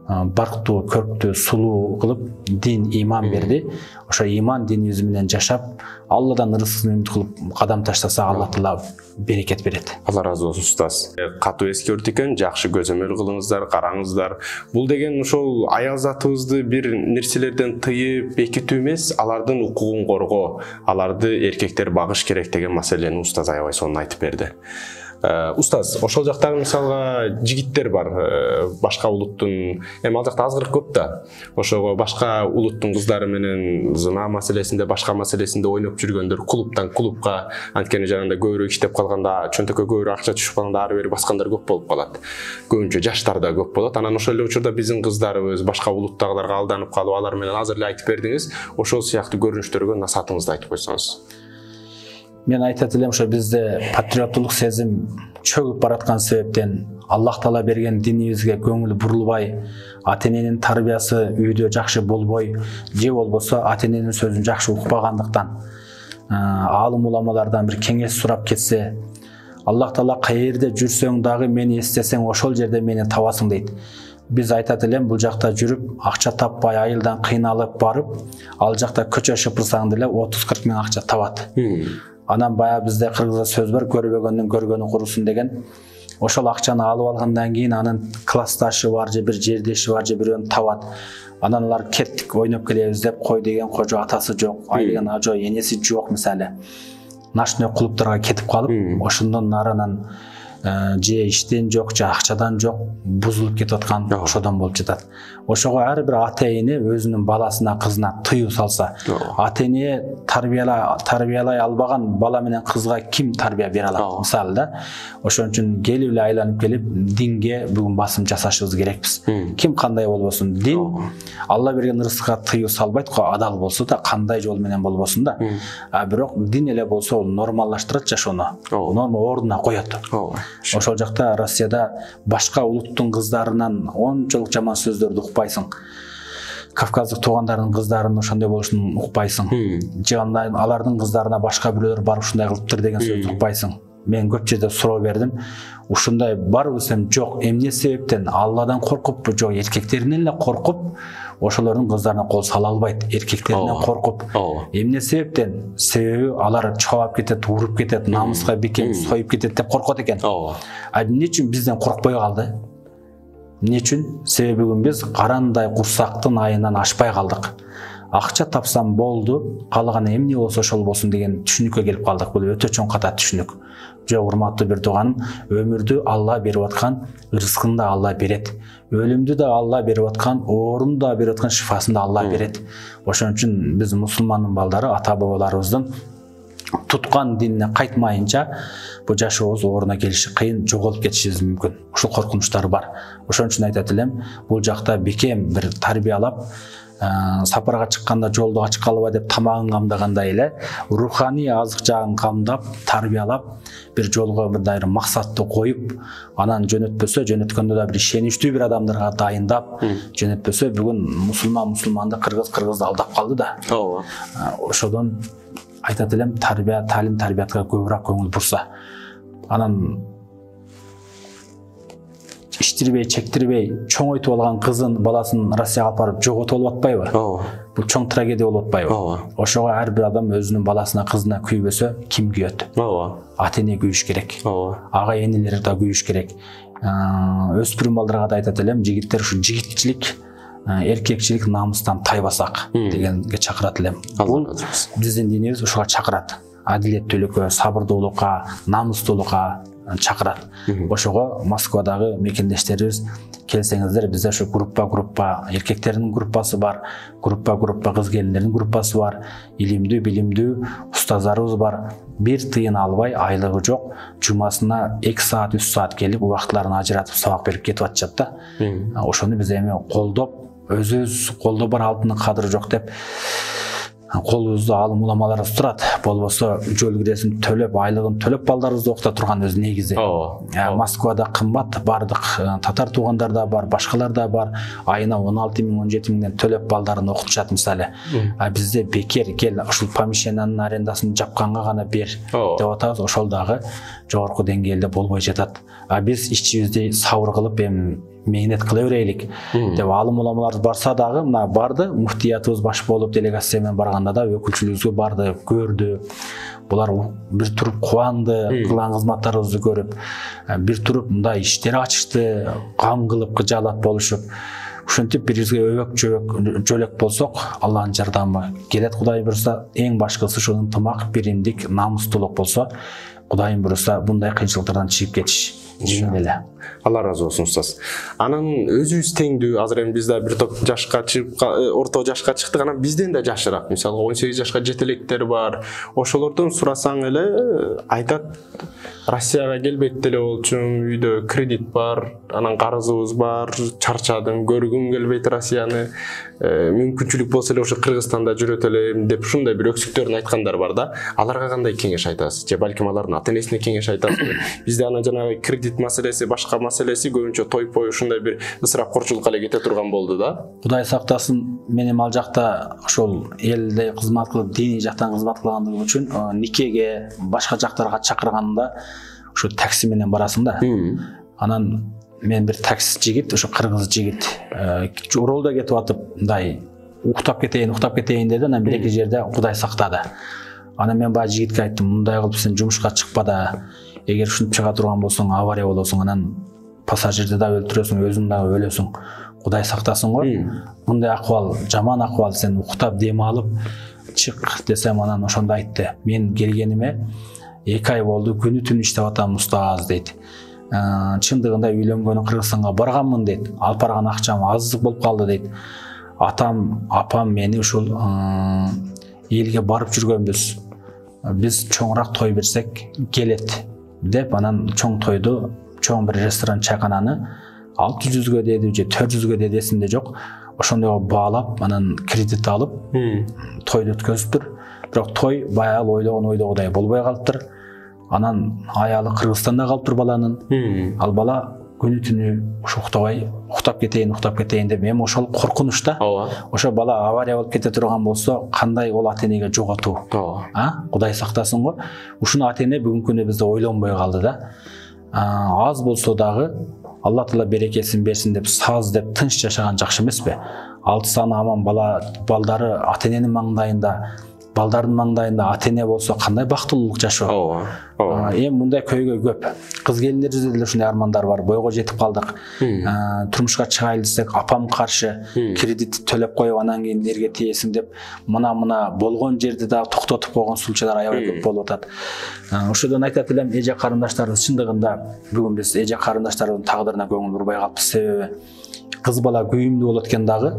барктуу, көрктүү, сулуу кылып дин, иман берди. Ошо иман динибиз менен жашап, Алладан рызкын үмүт кылып кадам таштаса, Алла Таала берекет берет.
Алла разы болсун устаз. Катуу эскертик экен, жакшы көзөмөл кылыңыздар, караңыздар. Бул деген ошол аял затыбызды бир нерселерден тыйып бекитүү эмес, алардын укугун коргоо, аларды эркектер багыш керек деген маселени устаз аябай сонун айтып берди. Устаз, ошол жактагы мисалга жигиттер бар, башка улуттун, эми ал жакта азгырык көп да. Ошого башка улуттун кыздары менен зына маселесинде, башка маселесинде ойноп жүргөндөр, клубтан клубка, анткени жанагындай көбүрөөк иштеп калганда, чөнтөккө көбүрөөк акча түшүп калганда ары бери баскандар көп болуп калат. Көбүнчө жаштар да көп болот. Анан ошол эле учурда биздин кыздарыбыз башка улуттагыларга алданып калып, алар менен азыр эле айтып бердиңиз, ошол сыяктуу көрүнүштөргө насаатыңызды айтып койсоңуз.
Мен айтат элем, ошо бизде патриоттулук сезим чөгүп бараткан себептен Аллах Таала берген динибизге көңүл бурулбай, ата-эненин тарбиясы үйдө жакшы болбой, же болбосо ата-эненин сөзүн жакшы укпагандыктан, аалым уламалардан бир кеңеш сурап кетсе, Аллах Таала каерде жүрсөң дагы мени эстесең ошол жерде мени табасың дейт. Биз айтат элем, бул жакта жүрүп, акча таппай, айылдан кыйналып барып, ал жакта көчө шыпырсаң деле отуз кырк миң акча табат. Анан баягы бизде кыргызда сөз бар, көрбөгөндүн көргөнү курусун деген. Ошол акчаны алып алгандан кийин анын классташы бар, же бир жердеши бар, же бирөөнү табат. Анан алар кеттик, ойноп келебиз деп, кой деген кожо атасы жок, ай деген ажо энеси жок мисалы. Ночной клубтарга кетип калып, ошондон наранан же иштен жок, же акчадан жок, бузулуп кетип аткан ошодон болуп жатат. Ошого ар бир ата-эне өзүнүн баласына, кызына тыюу салса, ата-эне тарбиялай тарбиялай албаган бала менен кызга ким тарбия бере алат? Мисалы да, ошон үчүн келип эле айланып келип динге бүгүн басым жасашыбыз керекпиз. Ким кандай болбосун, дин Алла берген рызыкка тыюу салбайт го, адал болсо да, кандай жол менен болбосун да. А бирок дин эле болсо ол нормалдаштырат жашоону, норма ордуна коет. Ошол жакта Россияда башка улуттун кыздарынан ончолук жаман сөздөрдү укпайсың. кавказдык туугандарынын кыздарынын ошондой болушун укпайсың, же алардын кыздарына башка бирөөлөр барып ушундай кылыптыр деген сөздү укпайсың. Мен көп жерде суроо бердим. Ушундай бар десем жок. Эмне себептен? Алладан коркуппу? Жок, эркектеринен эле коркуп, ошолордун кыздарына кол сала албайт. Эркектеринен коркуп. Эмне себептен? Себеби алар чабап кетет, уруп кетет, намыска бекем союп кетет деп коркот экен. А эмне үчүн бизден коркпой калды? Эмне үчүн? Себеби бүгүн биз карандай курсактын айынан ашпай калдык. Акча тапсам болду, калганы эмне болсо ошол болсун деген түшүнүккө келип калдык. Бул өтө чоң ката түшүнүк. Жок, урматтуу бир тууганым, өмүрдү Алла берип аткан, рызкын да Алла берет. Өлүмдү да Алла берип аткан, оорун да берип аткан, шифасын да Алла берет. Ошон үчүн биз мусулмандын балдары ата-бабаларыбыздын туткан динине кайтмайынча бул жашообуз ооруна келиши кыйын, жоголуп кетишибиз мүмкүн. Ушул коркунучтар бар. Ошон үчүн айтат элем, бул жакта бекем бир тарбиялап, сапарга чыкканда жолду ачык калба деп тамагын камдагандай эле руханий азык жагын камдап, тарбиялап, бир жолго мындай максатты коюп, анан жөнөтпөсө, жөнөткөндө да бир ишеничтүү бир адамдарга дайындап, жөнөтпөсө бүгүн мусулман мусулманды, кыргыз кыргызды алдап калды да. Ооба. Ошодон айтат элем, тарбия, талим, тарбиятка көбүрөөк көңүл бурса. Анан иштирбей, чектирбей, чоңойтуп алган кызын, баласын Россияга алып барып жоготуп алып атпайбы? Ооба. Бул чоң трагедия болуп атпайбы? Ооба. Ошого ар бир адам өзүнүн баласына, кызына күйбөсө, ким күйөт? Ооба. Ата-эне күйүш керек. Ооба. Ага энелер да күйүш керек. Өспүрүм балдарга да айтат элем, жигиттер ушу жигитчилик, эркекчилик намыстан тайбасак дегенге чакырат элем. Бул биздин динибиз ушуга чакырат. Адилеттүүлүккө, сабырдуулукка, намыстуулукка чакырат. Ошого Москвадагы мекендештерибиз келсеңиздер, бизде ошо группа-группа, эркектердин группасы бар, группа-группа кыз келиндердин группасы бар, илимдүү, билимдүү устаздарыбыз бар. Бир тыйын албай, айлыгы жок, жумасына эки саат, үч саат келип, убактыларын ажыратып сабак берип кетип атышат да. Ошону биз эми колдоп, өзүбүз колдо бар алтындын кадыры жок деп колубузду алым уламаларыбыз турат. Болбосо жол киресин төлөп, айлыгын төлөп балдарыбызды окута турган өзү негизи. Москвада кымбат, бардык татар туугандар да бар, башкалар да бар. Айына он алты миң, он жети миңден төлөп балдарын окутушат мисалы. А бизде бекер кел, ушул помещениянын арендасын жапканга гана бер деп атабыз. Ошол дагы жогорку деңгээлде болбой жатат. А биз ичибизди сабыр кылып эми мейнет кыла берелик деп алым уламаларыбыз барса дагы, мына барды, муфтиятыбыз баш болуп делегация менен барганда да өкүлчүлүгүбүзгө барды, көрдү. Булар бир туруп кубанды, кылган кызматтарыбызды көрүп, бир туруп мындай иштер ачышты, кам кылып кыжаалат болушуп. Ушинтип бирибизге өбөк жөбөк жөлөк болсок, Алланын жардамы келет. Кудай буйрса, эң башкысы ушул ынтымак, биримдик, намыстуулук болсо, Кудайым буйрса, мындай кыйынчылыктардан чыгып кетиш. Эле.
Алла разы болсун устаз. Анан өзүбүз теңдүү, азыр эми биз да бир топ жашка чыгып, орто жашка чыктык, анан бизден да жашыраак, мисалы он сегиз жашка жетелектер бар. Ошолордон сурасаң эле айтат, Россияга келбейт деле болчумун, үйдө кредит бар, анан карызыбыз бар, чарчадым, көргүм келбейт Россияны. Мүмкүнчүлүк болсо эле ошо Кыргызстанда жүрөт элем деп ушундай бир өксүктөрүн айткандар бар да. Аларга кандай кеңеш айтасыз? Же балким алардын ата-энесине кеңеш айтасызбы? Бизде анан жанагы кредит маселеси, башка маселеси көбүнчө той-пой ушундай бир ысырапкорчулукка эле кете турган болду да.
Кудай сактасын, мен эми ал жакта ошол элде кызмат кылып, диний жактан кызмат кылгандыгым үчүн никеге, башка жактарга чакырганда ушу такси менен барасың да. Анан мен бир таксист жигит, ошо кыргыз жигит, жолдо кетип атып, мындай уктап кетейин, уктап кетейин деди, анан бир эки жерде Кудай сактады. Анан мен баягы жигитке айттым, мындай кылып сен жумушка чыкпа да, эгер ушинтип чыга турган болсоң, авария болосуң, анан пассажирди да өлтүрөсүң, өзүң да өлөсүң. Кудай сактасын го. Мындай акыбал, жаман акыбал, сен уктап дем алып чык десем, анан ошондо айтты. Мен келгениме эки ай болду, күнү түнү иштеп атам устаз дейт. Чындыгында үйлөнгөнү Кыргызстанга барганмын дейт. Алып барган акчам аздык болуп калды дейт. Атам, апам мени ушул элге барып жүргөнбүз. Биз чоңураак той берсек келет деп, анан чоң тойду, чоң бир ресторан, чайкананы алты жүзгө деди, же төрт жүзгө деди, эсимде жок. Ошондойго баалап, анан кредит алып, тойду өткөзүптүр. Бирок той баягы ойлогон ойдогудай болбой калыптыр. Анан аялы Кыргызстанда калыптыр баланын. Ал бала күнү түнү ушу уктабай уктап кетейин уктап кетейин деп эми ошол коркунуч да.
ооба
Ошо бала авария болуп кете турган болсо кандай ол ата энеге жоготуу.
ооба
А Кудай сактасын го. Ушуну ата эне бүгүнкү күнү бизде ойлонбой калды да. Аз болсо дагы Алла Таала берекесин берсин деп саз деп тынч жашаган жакшы эмеспи? Алты саны аман бала балдары ата эненин маңдайында, балдардын маңдайында ата эне болсо кандай бактылуулук жашоо.
ооба ооба
Эми мындай көйгөй көп. Кыз келиндерибизде деле ушундай армандар бар. Бойго жетип калдык. Турмушка чыгайлы десек апам каршы, кредит төлөп коюп анан кийин эрге тиесиң деп мына мына болгон жерди да токтотуп койгон сулчалар аябай көп болуп атат. Ошодон айтат элем, эже карындаштарыбыз чындыгында бүгүн биз эже карындаштарыбыздын тагдырына көңүл бурбай калыппыз. Себеби кыз бала күйүмдүү болот экен дагы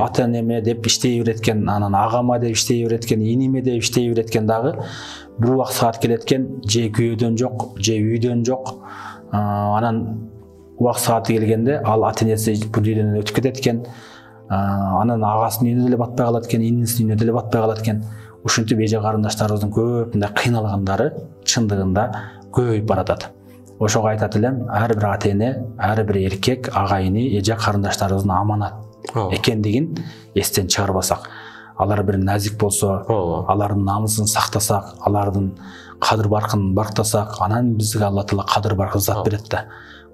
ата энеме деп иштей берет экен, анан агама деп иштей берет экен, иниме деп иштей берет экен дагы бир убак саат келет экен, же күйөөдөн жок, же үйдөн жок. Анан убак сааты келгенде ал ата энеси бул дүйнөдөн өтүп кетет экен. Анан агасынын үйүнө деле батпай калат экен, инисинин үйүнө деле батпай калат экен. Ушинтип эже карындаштарыбыздын көп мындай кыйналгандары чындыгында көбөйүп баратат. Ошого айтат элем, ар бир ата эне, ар бир эркек агайыны эже карындаштарыбыздын аманат экендигин эстен чыгарбасак, алар бир назик болсо, алардын намысын сактасак, алардын кадыр баркын барктасак, анан бизге Алла Таала кадыр баркы зат берет да.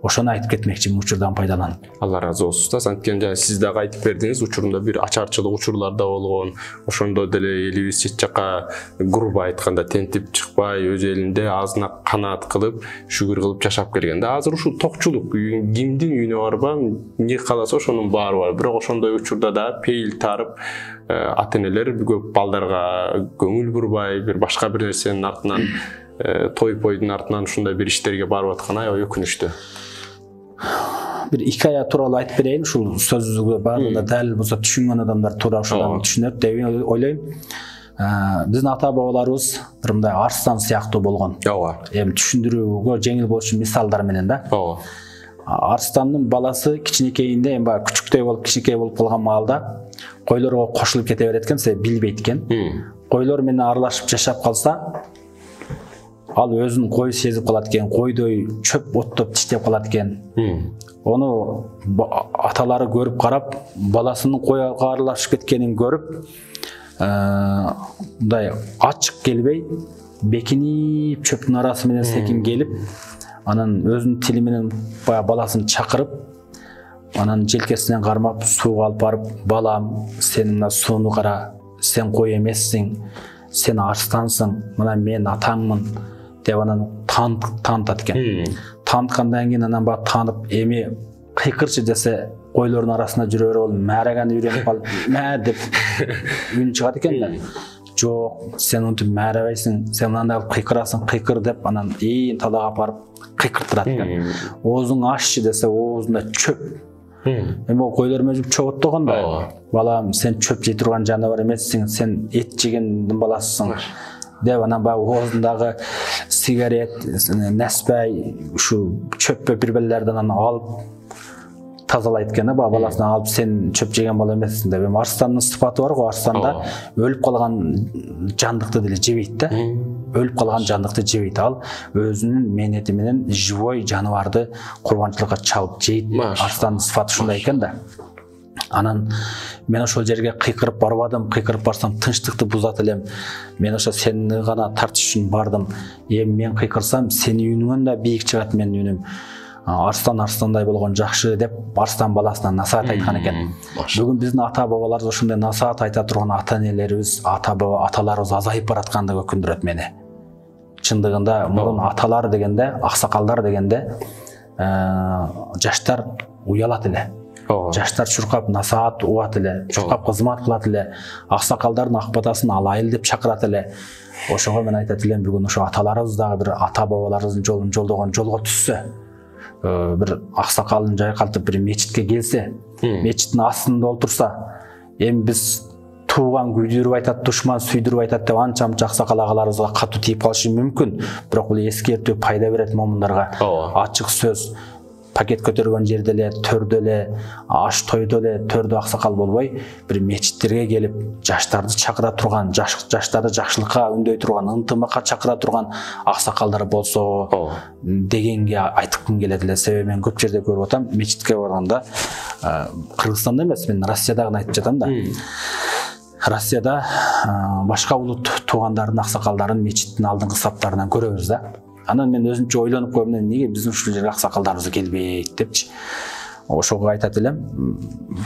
Ошону айтып кетмекчимин учурдан пайдаланып.
Алла разы болсун устаз. Анткени жана сиз дагы айтып бердиңиз, учурунда бир ачарчылык учурлар да болгон. Ошондо деле элибиз чет жака грубо айтканда тентип чыкпай, өз элинде азына канаат кылып, шүгүр кылып жашап келген да. Азыр ушул токчулук кимдин үйүнө барбам, эмне кааласа ошонун баары бар. Бирок ошондой учурда да пейил тарып, ата энелер көп балдарга көңүл бурбай, бир башка бир нерсенин артынан, той пойдун артынан ушундай бир иштерге барып атканы аябай өкүнүчтүү.
Бир икая тууралуу айтып берейин, ушул сөзүгө баарында дал болсо түшүнгөн адамдар туура ошондон түшүнөт деп ойлойм. Биздин ата бабаларыбыз бир мындай арстан сыяктуу болгон.
Ооба.
Эми түшүндүрүүгө жеңил болуш үчүн мисалдар менен да.
Ооба.
Арстандын баласы кичинекейинде, эми баягы күчүктөй болуп, кичинекей болуп калган маалда койлорго кошулуп кете берет экен, себеби билбейт экен. Койлор менен аралашып жашап калса, ал өзүн кой сезип калат экен, койдой чөп оттоп тиштеп калат экен. Ону аталары көрүп карап, баласынын койго аралашып кеткенин көрүп, мындай ачык келбей, бекинип чөптүн арасы менен секин келип, анан өзүнүн тили менен баягы баласын чакырып, анан желкесинен кармап сууга алып барып, балам, сен мына сууну кара, сен кой эмессиң, сен арстансың, мына мен атаңмын деп анан таанытат экен. Тааныткандан кийин анан баягы таанып, эми кыйкырчы десе, койлордун арасында жүрө берип ал мээрегени үйрөнүп калып, мээ деп үнү чыгат экен да. Жок, сен антип мээребейсиң, сен мындай кылып кыйкырасың, кыйкыр деп анан ээн талаага апарып кыйкыртырат экен. Оозуң аччы десе, оозунда чөп. Эми ол койлор менен чөп оттогон да. Балам, сен чөп жей турган жаныбар эмессиң, сен эт жегендин баласысың деп анан баягы оозундагы сигарет, неспай, ушу чөппө бир-бирлерден анан алып тазалайт экен да, баягы баласынан алып, сен чөп жеген бала эмессиң деп. Эми арстандын сыпаты бар го, арстанда өлүп калган жандыкты деле жебейт да. Өлүп калган жандыкты жебейт, ал өзүнүн мээнети менен живой жаныбарды курбанчылыкка чалып жейт. Арстандын сыпаты ушундай экен да. Анан мен ошол жерге кыйкырып барбадым, кыйкырып барсам тынчтыкты бузат элем. Мен ошо сени гана тартыш үчүн бардым. Эми мен кыйкырсам, сенин үнүңөн да бийик чыгат менин үнүм. Арстан арстандай болгон жакшы деп арстан баласына насаат айткан экен. Бүгүн биздин ата бабаларыбыз ошондой насаат айта турган ата энелерибиз, ата баба аталарыбыз азайып бараткандыгы өкүндүрөт мени. Чындыгында мурун аталар дегенде, аксакалдар дегенде жаштар уялат эле. Жаштар чуркап насаат угат эле, чуркап кызмат кылат эле, аксакалдардын ак батасын алайыл деп чакырат эле. Ошого мен айтат элем, бүгүн ошо аталарыбыз дагы бир ата бабаларыбыздын жолун жолдогон жолго түшсө, бир аксакалын жайкалтып бир мечитке келсе, мечиттин астында олтурса, эми биз тууган күйдүрүп айтат, душман сүйдүрүп айтат деп анча-мынча аксакал агаларыбызга катуу тийип калышы мүмкүн. Бирок бул эскертүү пайда берет момундарга. Ачык сөз пакет көтөргөн жерде эле, төрдө эле, аш тойдо эле төрдө аксакал болбой, бир мечиттерге келип, жаштарды чакыра турган, жаштарды жакшылыкка үндөй турган, ынтымакка чакыра турган аксакалдар болсо дегенге айткым келет эле. Себеби мен көп жерде көрүп атам, мечитке барганда, Кыргызстанда эмес, мен Россиядагы айтып жатам да. Россияда башка улут туугандардын аксакалдарын мечиттин алдыңкы саптарынан көрөбүз да. Анан мен өзүмчө ойлонуп койдум, неге биздин ушул жерге аксакалдарыбыз келбейт депчи. Ошого айтат элем,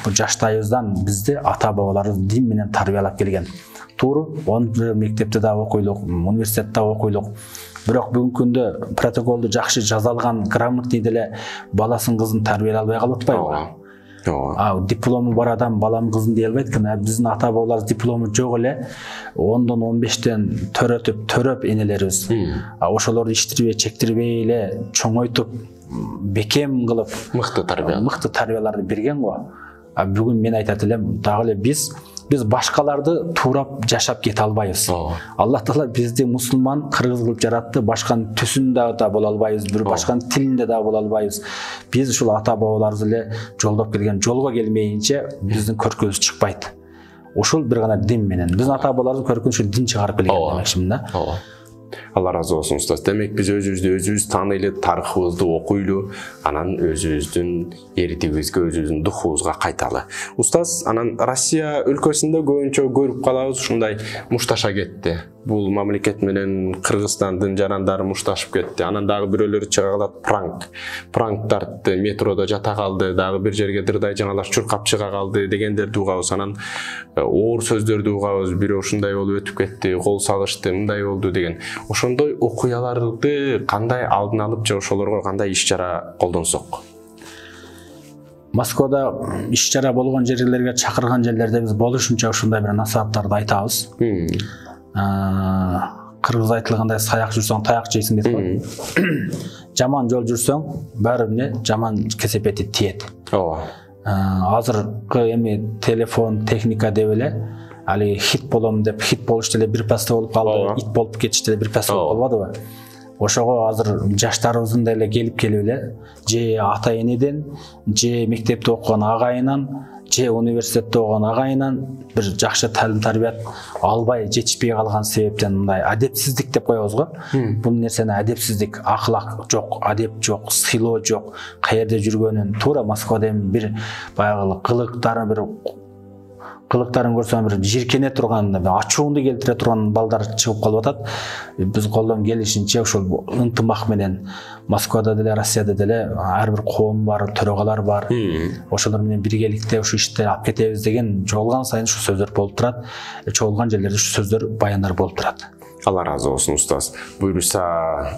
бул жаштайыбыздан бизди ата бабаларыбыз дин менен тарбиялап келген. Туура, он жыл мектепте да окуйлук, университетте окуйлук. Бирок бүгүнкү күндө протоколду жакшы жаза алган, грамотный деле баласын кызын тарбиялай албай калып атпайбы? А диплому бар адам балам кызын дей албайт экен. Биздин ата бабаларыбыз диплому жок эле ондон он бештен төрөтүп, төрөп энелерибиз. А ошолорду иштирбей, чектирбей эле чоңойтуп, бекем кылып, мыкты тарбия, мыкты тарбияларды берген го. А бүгүн мен айтат элем, дагы эле биз биз башкаларды туурап жашап кете албайбыз. Аллах Таала бизди мусулман, кыргыз кылып жаратты, башканын түсүндө да боло албайбыз, бир башканын тилинде да боло албайбыз. Биз ушул ата бабаларыбыз эле жолдоп келген жолго келмейинче биздин көркүбүз чыкпайт. Ушул бир гана дин менен. Биздин ата бабаларыбыз көркүн ушул дин чыгарып келген демекчимин да.
Алла разы болсун устаз. Демек биз өзүбүздү өзүбүз тааныйлы, тарыхыбызды окуйлу, анан өзүбүздүн эритигибизге, өзүбүздүн духубузга кайталы. Устаз, анан Россия өлкөсүндө көбүнчө көрүп калабыз ушундай мушташа кетти. Бул мамлекет менен Кыргызстандын жарандары мушташып кетти. Анан дагы бирөөлөр чыга калат пранк. Пранк тартты, метродо жата калды, дагы бир жерге дырдай жаңалаш чуркап чыга калды дегендерди угабыз. Анан оор сөздөрдү угабыз. Бирөө ушундай болуп өтүп кетти, кол салышты, мындай болду деген. Ошондой окуяларды кандай алдын алып, же ошолорго кандай иш-чара колдонсок?
Москвада иш-чара болгон жерлерге чакырган жерлерде биз болушунча ушундай бир насааттарды айтабыз. Кыргыз айтылгандай саяк жүрсөң таяк жейсиң дейт го. Жаман жол жүрсөң баарыбине жаман кесепети тиет. Ооба. Азыркы эми телефон, техника деп эле али хит болом деп хит болуш деле бир паста болуп калды, ит болуп кетиш деле бир паста болуп калбадыбы? Ошого азыр жаштарыбыздын деле келип келип эле же ата энеден, же мектепте окуган агайынан, же университетте окуган агайынан бир жакшы таалим тарбият албай жетишпей калган себептен мындай адепсиздик деп коебуз го. Бул нерсени адепсиздик, ахлак жок, адеп жок, сыйлоо жок, каерде жүргөнүн туура Москвада эми бир баягы кылыктары бир кылыктарын көрсөм бир жиркене турган, ачууңду келтире турган балдар чыгып калып атат. Биз колдон келишинче ошол ынтымак менен Москвада деле, Россияда деле ар бир коом бар, төрөгалар бар. Ошолор менен биргеликте ушу ишти алып кетебиз деген жолгон сайын ушу сөздөр болуп турат. Чогулган жерлерде ушу сөздөр, баяндар болуп турат.
Алла разы болсун устаз. Буюрса,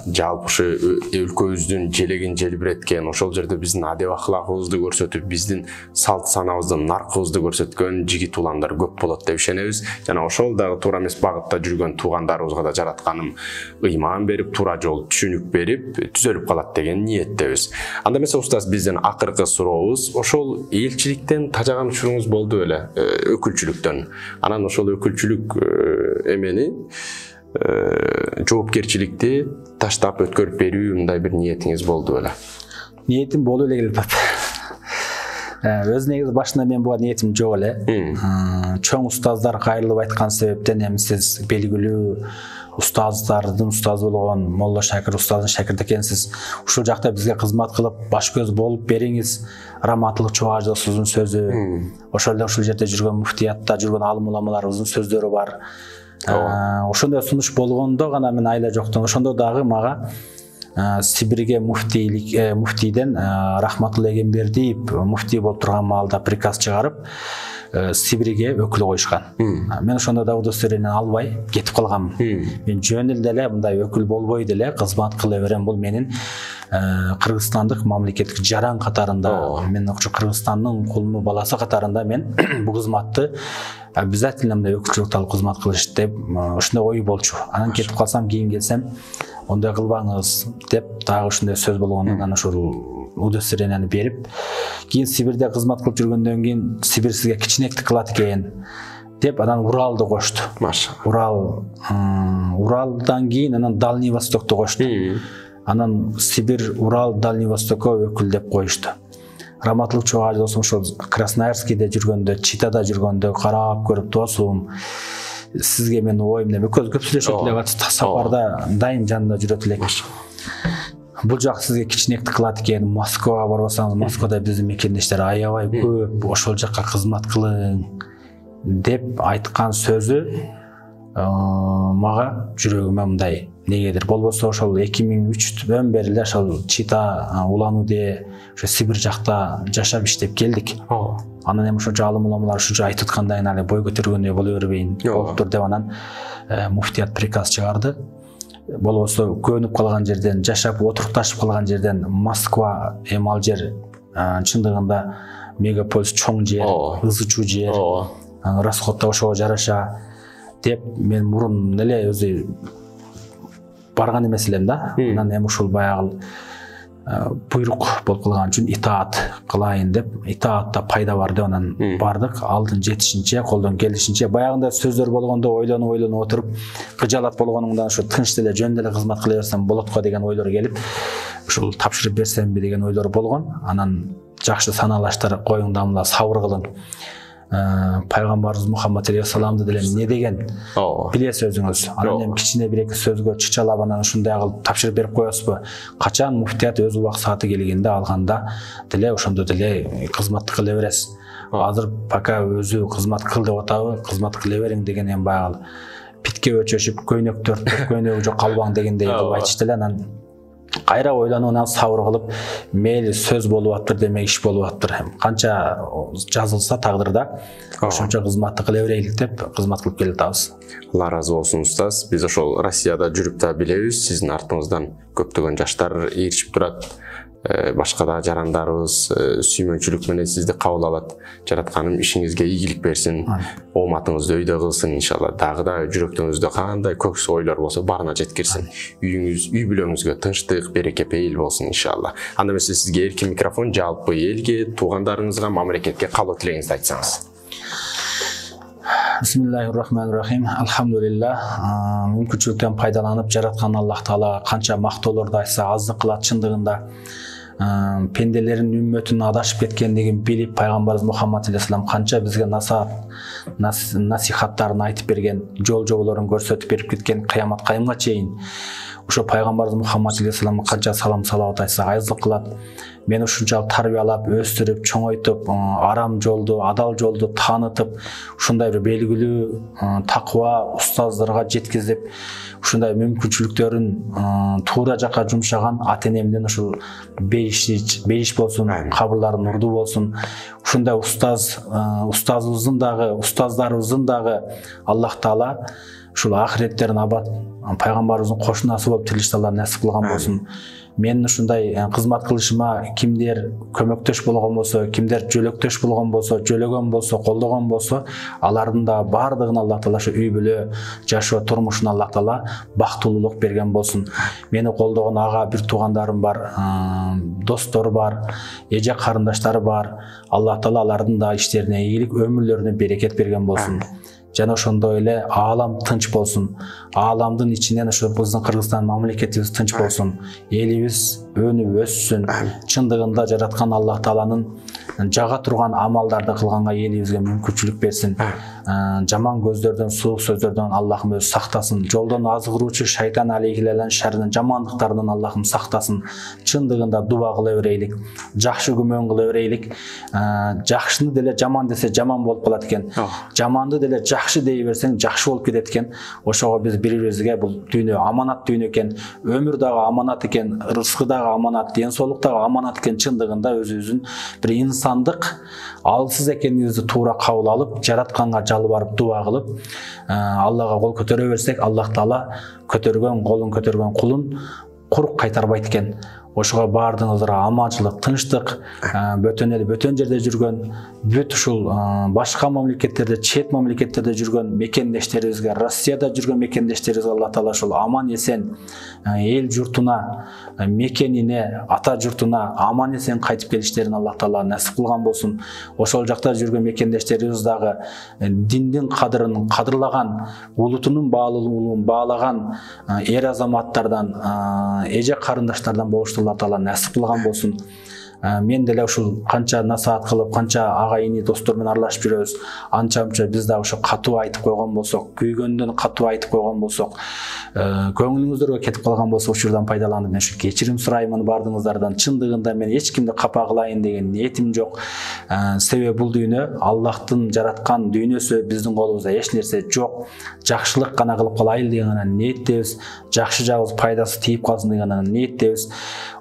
жалпы ушу өлкөбүздүн желегин желбиреткен, ошол жерде биздин адеп ахлагыбызды көрсөтүп, биздин салт санабызды, наркыбызды көрсөткөн жигит уландар көп болот деп ишенебиз. Жана ошол дагы туура эмес багытта жүргөн туугандарыбызга да жаратканым ыйман берип, туура жол түшүнүк берип, түзөлүп калат деген ниеттебиз. Анда эмесе устаз, биздин акыркы сурообуз ошол элчиликтен тажаган учуруңуз болду беле, өкүлчүлүктөн. Анан ошол өкүлчүлүк эмени жоопкерчиликти таштап өткөрүп берүү, мындай бир ниетиңиз болду беле?
Ниетим болуп эле келип атат. Өз негизи башында мен буга ниетим жок эле. Чоң устаздар кайрылып айткан себептен эми сиз белгилүү устаздардын устазы болгон Молла Шакир устаздын шакирти экенсиз. Ушул жакта бизге кызмат кылып, баш көз болуп бериңиз. Раматылык Чубажовдун сөзү, ошол эле ушул жерде жүргөн муфтиятта жүргөн алым уламаларыбыздын сөздөрү бар. Ошондой сунуш болгондо гана мен айла жоктон, ошондо дагы мага Сибирге муфтийлик муфтийден Рахматулла Эгембердиев муфтий болуп турган маалда приказ чыгарып, Сибирге өкүл коюшкан. Мен ошондо да удостоверение албай кетип калганмын. Мен жөн эле мындай өкүл болбой деле кызмат кыла берем. Бул менин Кыргызстандык мамлекеттик жаран катарында, мен ошо Кыргызстандын кулуну баласы катарында мен бул кызматты обязательно мындай өкүлчүлүктү алып кызмат кылыш деп ошондой ой болчу. Анан кетип калсам, кийин келсем, ондай кылбаңыз деп дагы ошондой сөз болгондон ошол удостоверениени берип, кийин Сибирде кызмат кылып жүргөндөн кийин Сибир сизге кичинектик кылат экен деп анан Уралды кошту. Урал Уралдан кийин анан Дальний Востокду кошту. Анан Сибирь, Урал, Дальний Востокко өкүл деп коюшту. Раматылык чогуу досум ошол Красноярскийде жүргөндө, Читада жүргөндө карап көрүп, досум сизге менин оюм деп көз көп сүйлөшөт элек, сапарда дайым жанында жүрөт элек. Бул жак сизге кичинекти кылат экен, Москвага барбасаңыз, Москвада биздин мекендештер аябай көп, ошол жакка кызмат кылың деп айткан сөзү мага жүрөгүмө мындай негедир. Болбосо ошол эки миң үчтөн бери эле ошол Чита, Улан-Удэ, ошо Сибирь жакта жашап иштеп келдик. Анан эми ошо жалым уламалар ушунча айтып аткандайын али бой көтөргөндөй боло бербейин болуптур деп анан муфтият приказ чыгарды. Болбосо көнүп калган жерден, жашап отурукташып калган жерден Москва эми ал жер чындыгында мегаполис чоң жер, ызы чуу жер, расход да ошого жараша деп мен мурун эле өзү барган эмес элем да. Анан эми ушул баягы буйрук болуп калган үчүн итаат кылайын деп, итаатта пайда бар деп анан бардык. Алдын жетишинче, колдон келишинче баягында сөздөр болгондо ойлонуп ойлонуп отуруп, кыжалат болгонуңдан ошо тынч деле жөн деле кызмат кыла берсем болот го деген ойлор келип, ушул тапшырып берсемби деген ойлор болгон. Анан жакшы санаалаштар коюң дамла сабыр кылың. Пайгамбарыбыз Мухаммад алейхиссаламды деле не деген билесиз өзүңүз. Анан эми кичине бир эки сөзгө чычалап анан ушундай кылып тапшырып берип коесузбу? Качан муфтият өз убак сааты келгенде алганда деле ошондо деле кызматты кыла бересиз. Азыр пока өзү кызмат кыл деп атабы, кызмат кыла бериң деген эми баягы питке өчөшүп көйнөк төрттүп көйнөгү жок калбаң дегендей кылып айтышты эле. Анан кайра ойлонуп анан сабыр кылып, мейли сөз болуп аттыр демек иш болуп аттыр. Канча жазылса тагдырда ошончо кызматты кыла берейлик деп кызмат кылып келатабыз.
Алла разы болсун устаз. Биз ошол Россияда жүрүп да билебиз, сиздин артыңыздан көптөгөн жаштар ээрчип турат. Башка да жарандарыбыз сүймөнчүлүк менен сизди кабыл алат. Жаратканым ишиңизге ийгилик берсин, ооматыңызды өйдө кылсын иншалла. Дагы да жүрөктөрүңүздө кандай көксү ойлор болсо барына жеткирсин. Үйүңүз, үй бүлөңүзгө тынчтык, береке пейил болсун иншалла. Анда эмесе сизге эркин микрофон, жалпы элге, туугандарыңызга, мамлекетке каалоо тилегиңизди айтсаңыз.
Бисмиллахир-рахманир-рахим. Алхамдулиллах. Мүмкүнчүлүктөн пайдаланып жараткан Аллах Таала канча мактоолорду айтса аздык кылат. Чындыгында пенделерин үммөтүнүн адашып кеткендигин билип, пайгамбарыбыз Мухаммад алейхиссалам канча бизге насаат насихаттарын айтып берген, жол жоболорун көрсөтүп берип кеткен кыямат кайымга чейин. Ошо пайгамбарыбыз Мухаммад алейхиссаламга канча салам салават айтса аздык кылат. Мени ушунчалык тарбиялап, өстүрүп, чоңойтуп, арам жолду, адал жолду таанытып, ушундай бир белгилүү такыба устаздарга жеткизип, ушундай мүмкүнчүлүктөрүн туура жакка жумшаган ата-энемден ушул бейиш бейиш болсун, кабырлары нурдуу болсун. Ушундай устаз, устазыбыздын дагы, устаздарыбыздын дагы Аллах Таала ушул ахиреттерин абад пайгамбарыбыздын кошунасы болуп тирилишти Алла насип кылган болсун. Мен ушундай кызмат кылышыма кимдер көмөктөш болгон болсо, кимдер жөлөктөш болгон болсо, жөлөгөн болсо, колдогон болсо, алардын да бардыгына Аллах Таала ошо үй бүлө, жашоо турмушуна Аллах Таала бактылуулук берген болсун. Мени колдогон ага бир туугандарым бар, достор бар, эже карындаштары бар. Аллах Таала алардын да иштерине ийгилик, өмүрлөрүнө берекет берген болсун. Жана ошондой эле аалам тынч болсун. Ааламдын ичинен ошо биздин Кыргызстан мамлекетибиз тынч болсун. Элибиз өнүп өссүн. Чындыгында жараткан Аллах Тааланын жага турган амалдарды кылганга элибизге мүмкүнчүлүк берсин. Жаман көздөрдөн, суук сөздөрдөн Аллахым өзү сактасын. Жолдон азгыруучу шайтан алейхилалан шарынан, жамандыктарынан Аллахым сактасын. Чындыгында дуба кыла берейлик, жакшы күмөн кыла берейлик. Жакшыны деле жаман десе жаман болуп калат экен. Жаманды деле жакшы дей берсең жакшы болуп кетет экен. Ошого биз бири-бирибизге бул дүйнө аманат дүйнө экен, өмүр дагы аманат экен, рызкы дагы аманат, ден соолук дагы аманат экен. Чындыгында өзүбүздүн бир инсандык алсыз экенибизди туура кабыл алып, жаратканга жалбарып дуа кылып, Аллага кол көтөрө берсек, Аллах Таала көтөргөн колун көтөргөн кулун курук кайтарбайт экен. ошого баардыгыңыздарга аманчылык, тынчтык, бөтөн эл, бөтөн жерде жүргөн, бүт ушул башка мамлекеттерде, чет мамлекеттерде жүргөн мекендештерибизге, Россияда жүргөн мекендештерибизге Алла Таала ушул аман эсен эл журтуна, мекенине, ата журтуна аман эсен кайтып келиштерин Алла Таала насип кылган болсун. Ошол жакта жүргөн мекендештерибиз дагы диндин кадырын кадырлаган, улутунун баалуулугун баалаган эр азаматтардан, эже карындаштардан болушту Алла Таала насип кылган болсун. Мен деле ушул канча насаат кылып, канча ага ини достор менен аралашып жүрөбүз. Анча-мынча биз дагы ошо катуу айтып койгон болсок, күйгөндөн катуу айтып койгон болсок, көңүлүңүздөргө кетип калган болсо учурдан пайдаланып мен ушу кечирим сураймын баардыгыңыздардан. Чындыгында мен эч кимди капа кылайын деген ниетим жок. Себеби бул дүйнө Аллахтын жараткан дүйнөсү, биздин колубузда эч нерсе жок. Жакшылык гана кылып калайлы деген гана ниеттебиз. Жакшы жагыбыз пайдасы тийип калсын деген гана ниеттебиз.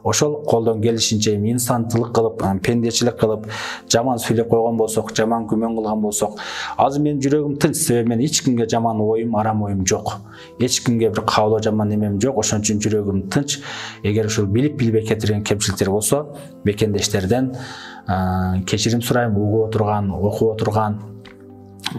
Ошол колдон келишинче инсандылык кылып, пендечилик кылып, жаман сүйлөп койгон болсок, жаман күмөн кылган болсок, азыр менин жүрөгүм тынч, себеби мен эч кимге жаман оюм, арам оюм жок. Эч кимге бир каалоо жаман немем жок, ошон үчүн жүрөгүм тынч. Эгер ушул билип билбей кетирген кемчиликтер болсо, мекендештерден кечирим сурайм, угуп отурган, окуп отурган.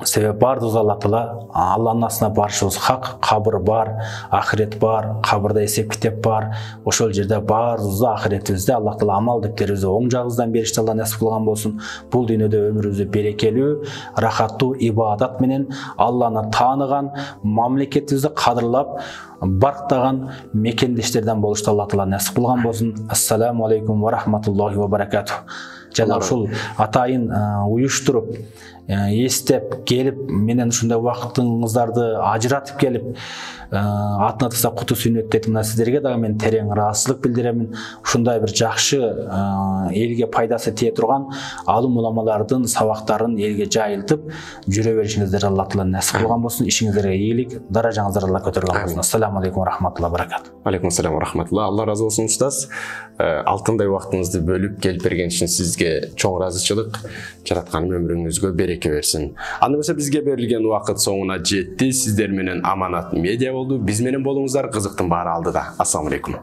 Себеби баардыгыбыз Алла Таала Алланын астына барышыбыз хак, кабыр бар, ахирет бар, кабырда эсеп китеп бар. Ошол жерде баарыбызды ахиретибизде Алла Таала амал дептерибизди оң жагыбыздан беришти Алла насип кылган болсун. Бул дүйнөдө өмүрүбүздү берекелүү, рахаттуу ибадат менен Алланы тааныган, мамлекетибизди кадырлап, барктаган мекендештерден болушту Алла Таала насип кылган болсун. Ассаламу алейкум ва рахматуллахи ва баракатух. Жана ушул атайын уюштуруп, эстеп келип, менен ушундай убактыңыздарды ажыратып келип, атын атаса куту сүннөт дейт. Мына сиздерге дагы мен терең ыраазычылык билдиремин. Ушундай бир жакшы элге пайдасы тие турган алым уламалардын сабактарын элге жайылтып жүрө беришиңиздер Алла Таала насип кылган болсун. Ишиңиздерге ийгилик, даражаңыздар Алла көтөргөн болсун. Ассаламу алейкум ва рахматуллахи ва баракатух.
Алейкум ассалам ва рахматулла. Алла разы болсун устаз. Алтындай убактыңызды бөлүп келип берген үчүн сизге чоң ыраазычылык. Жараткан өмүрүңүзгө береке берсин. Анда болсо бизге берилген убакыт соңуна жетти. Сиздер менен Аманат медиа болду. Биз менен болуңуздар, кызыктын баары алдыда. Ассаламу алейкум.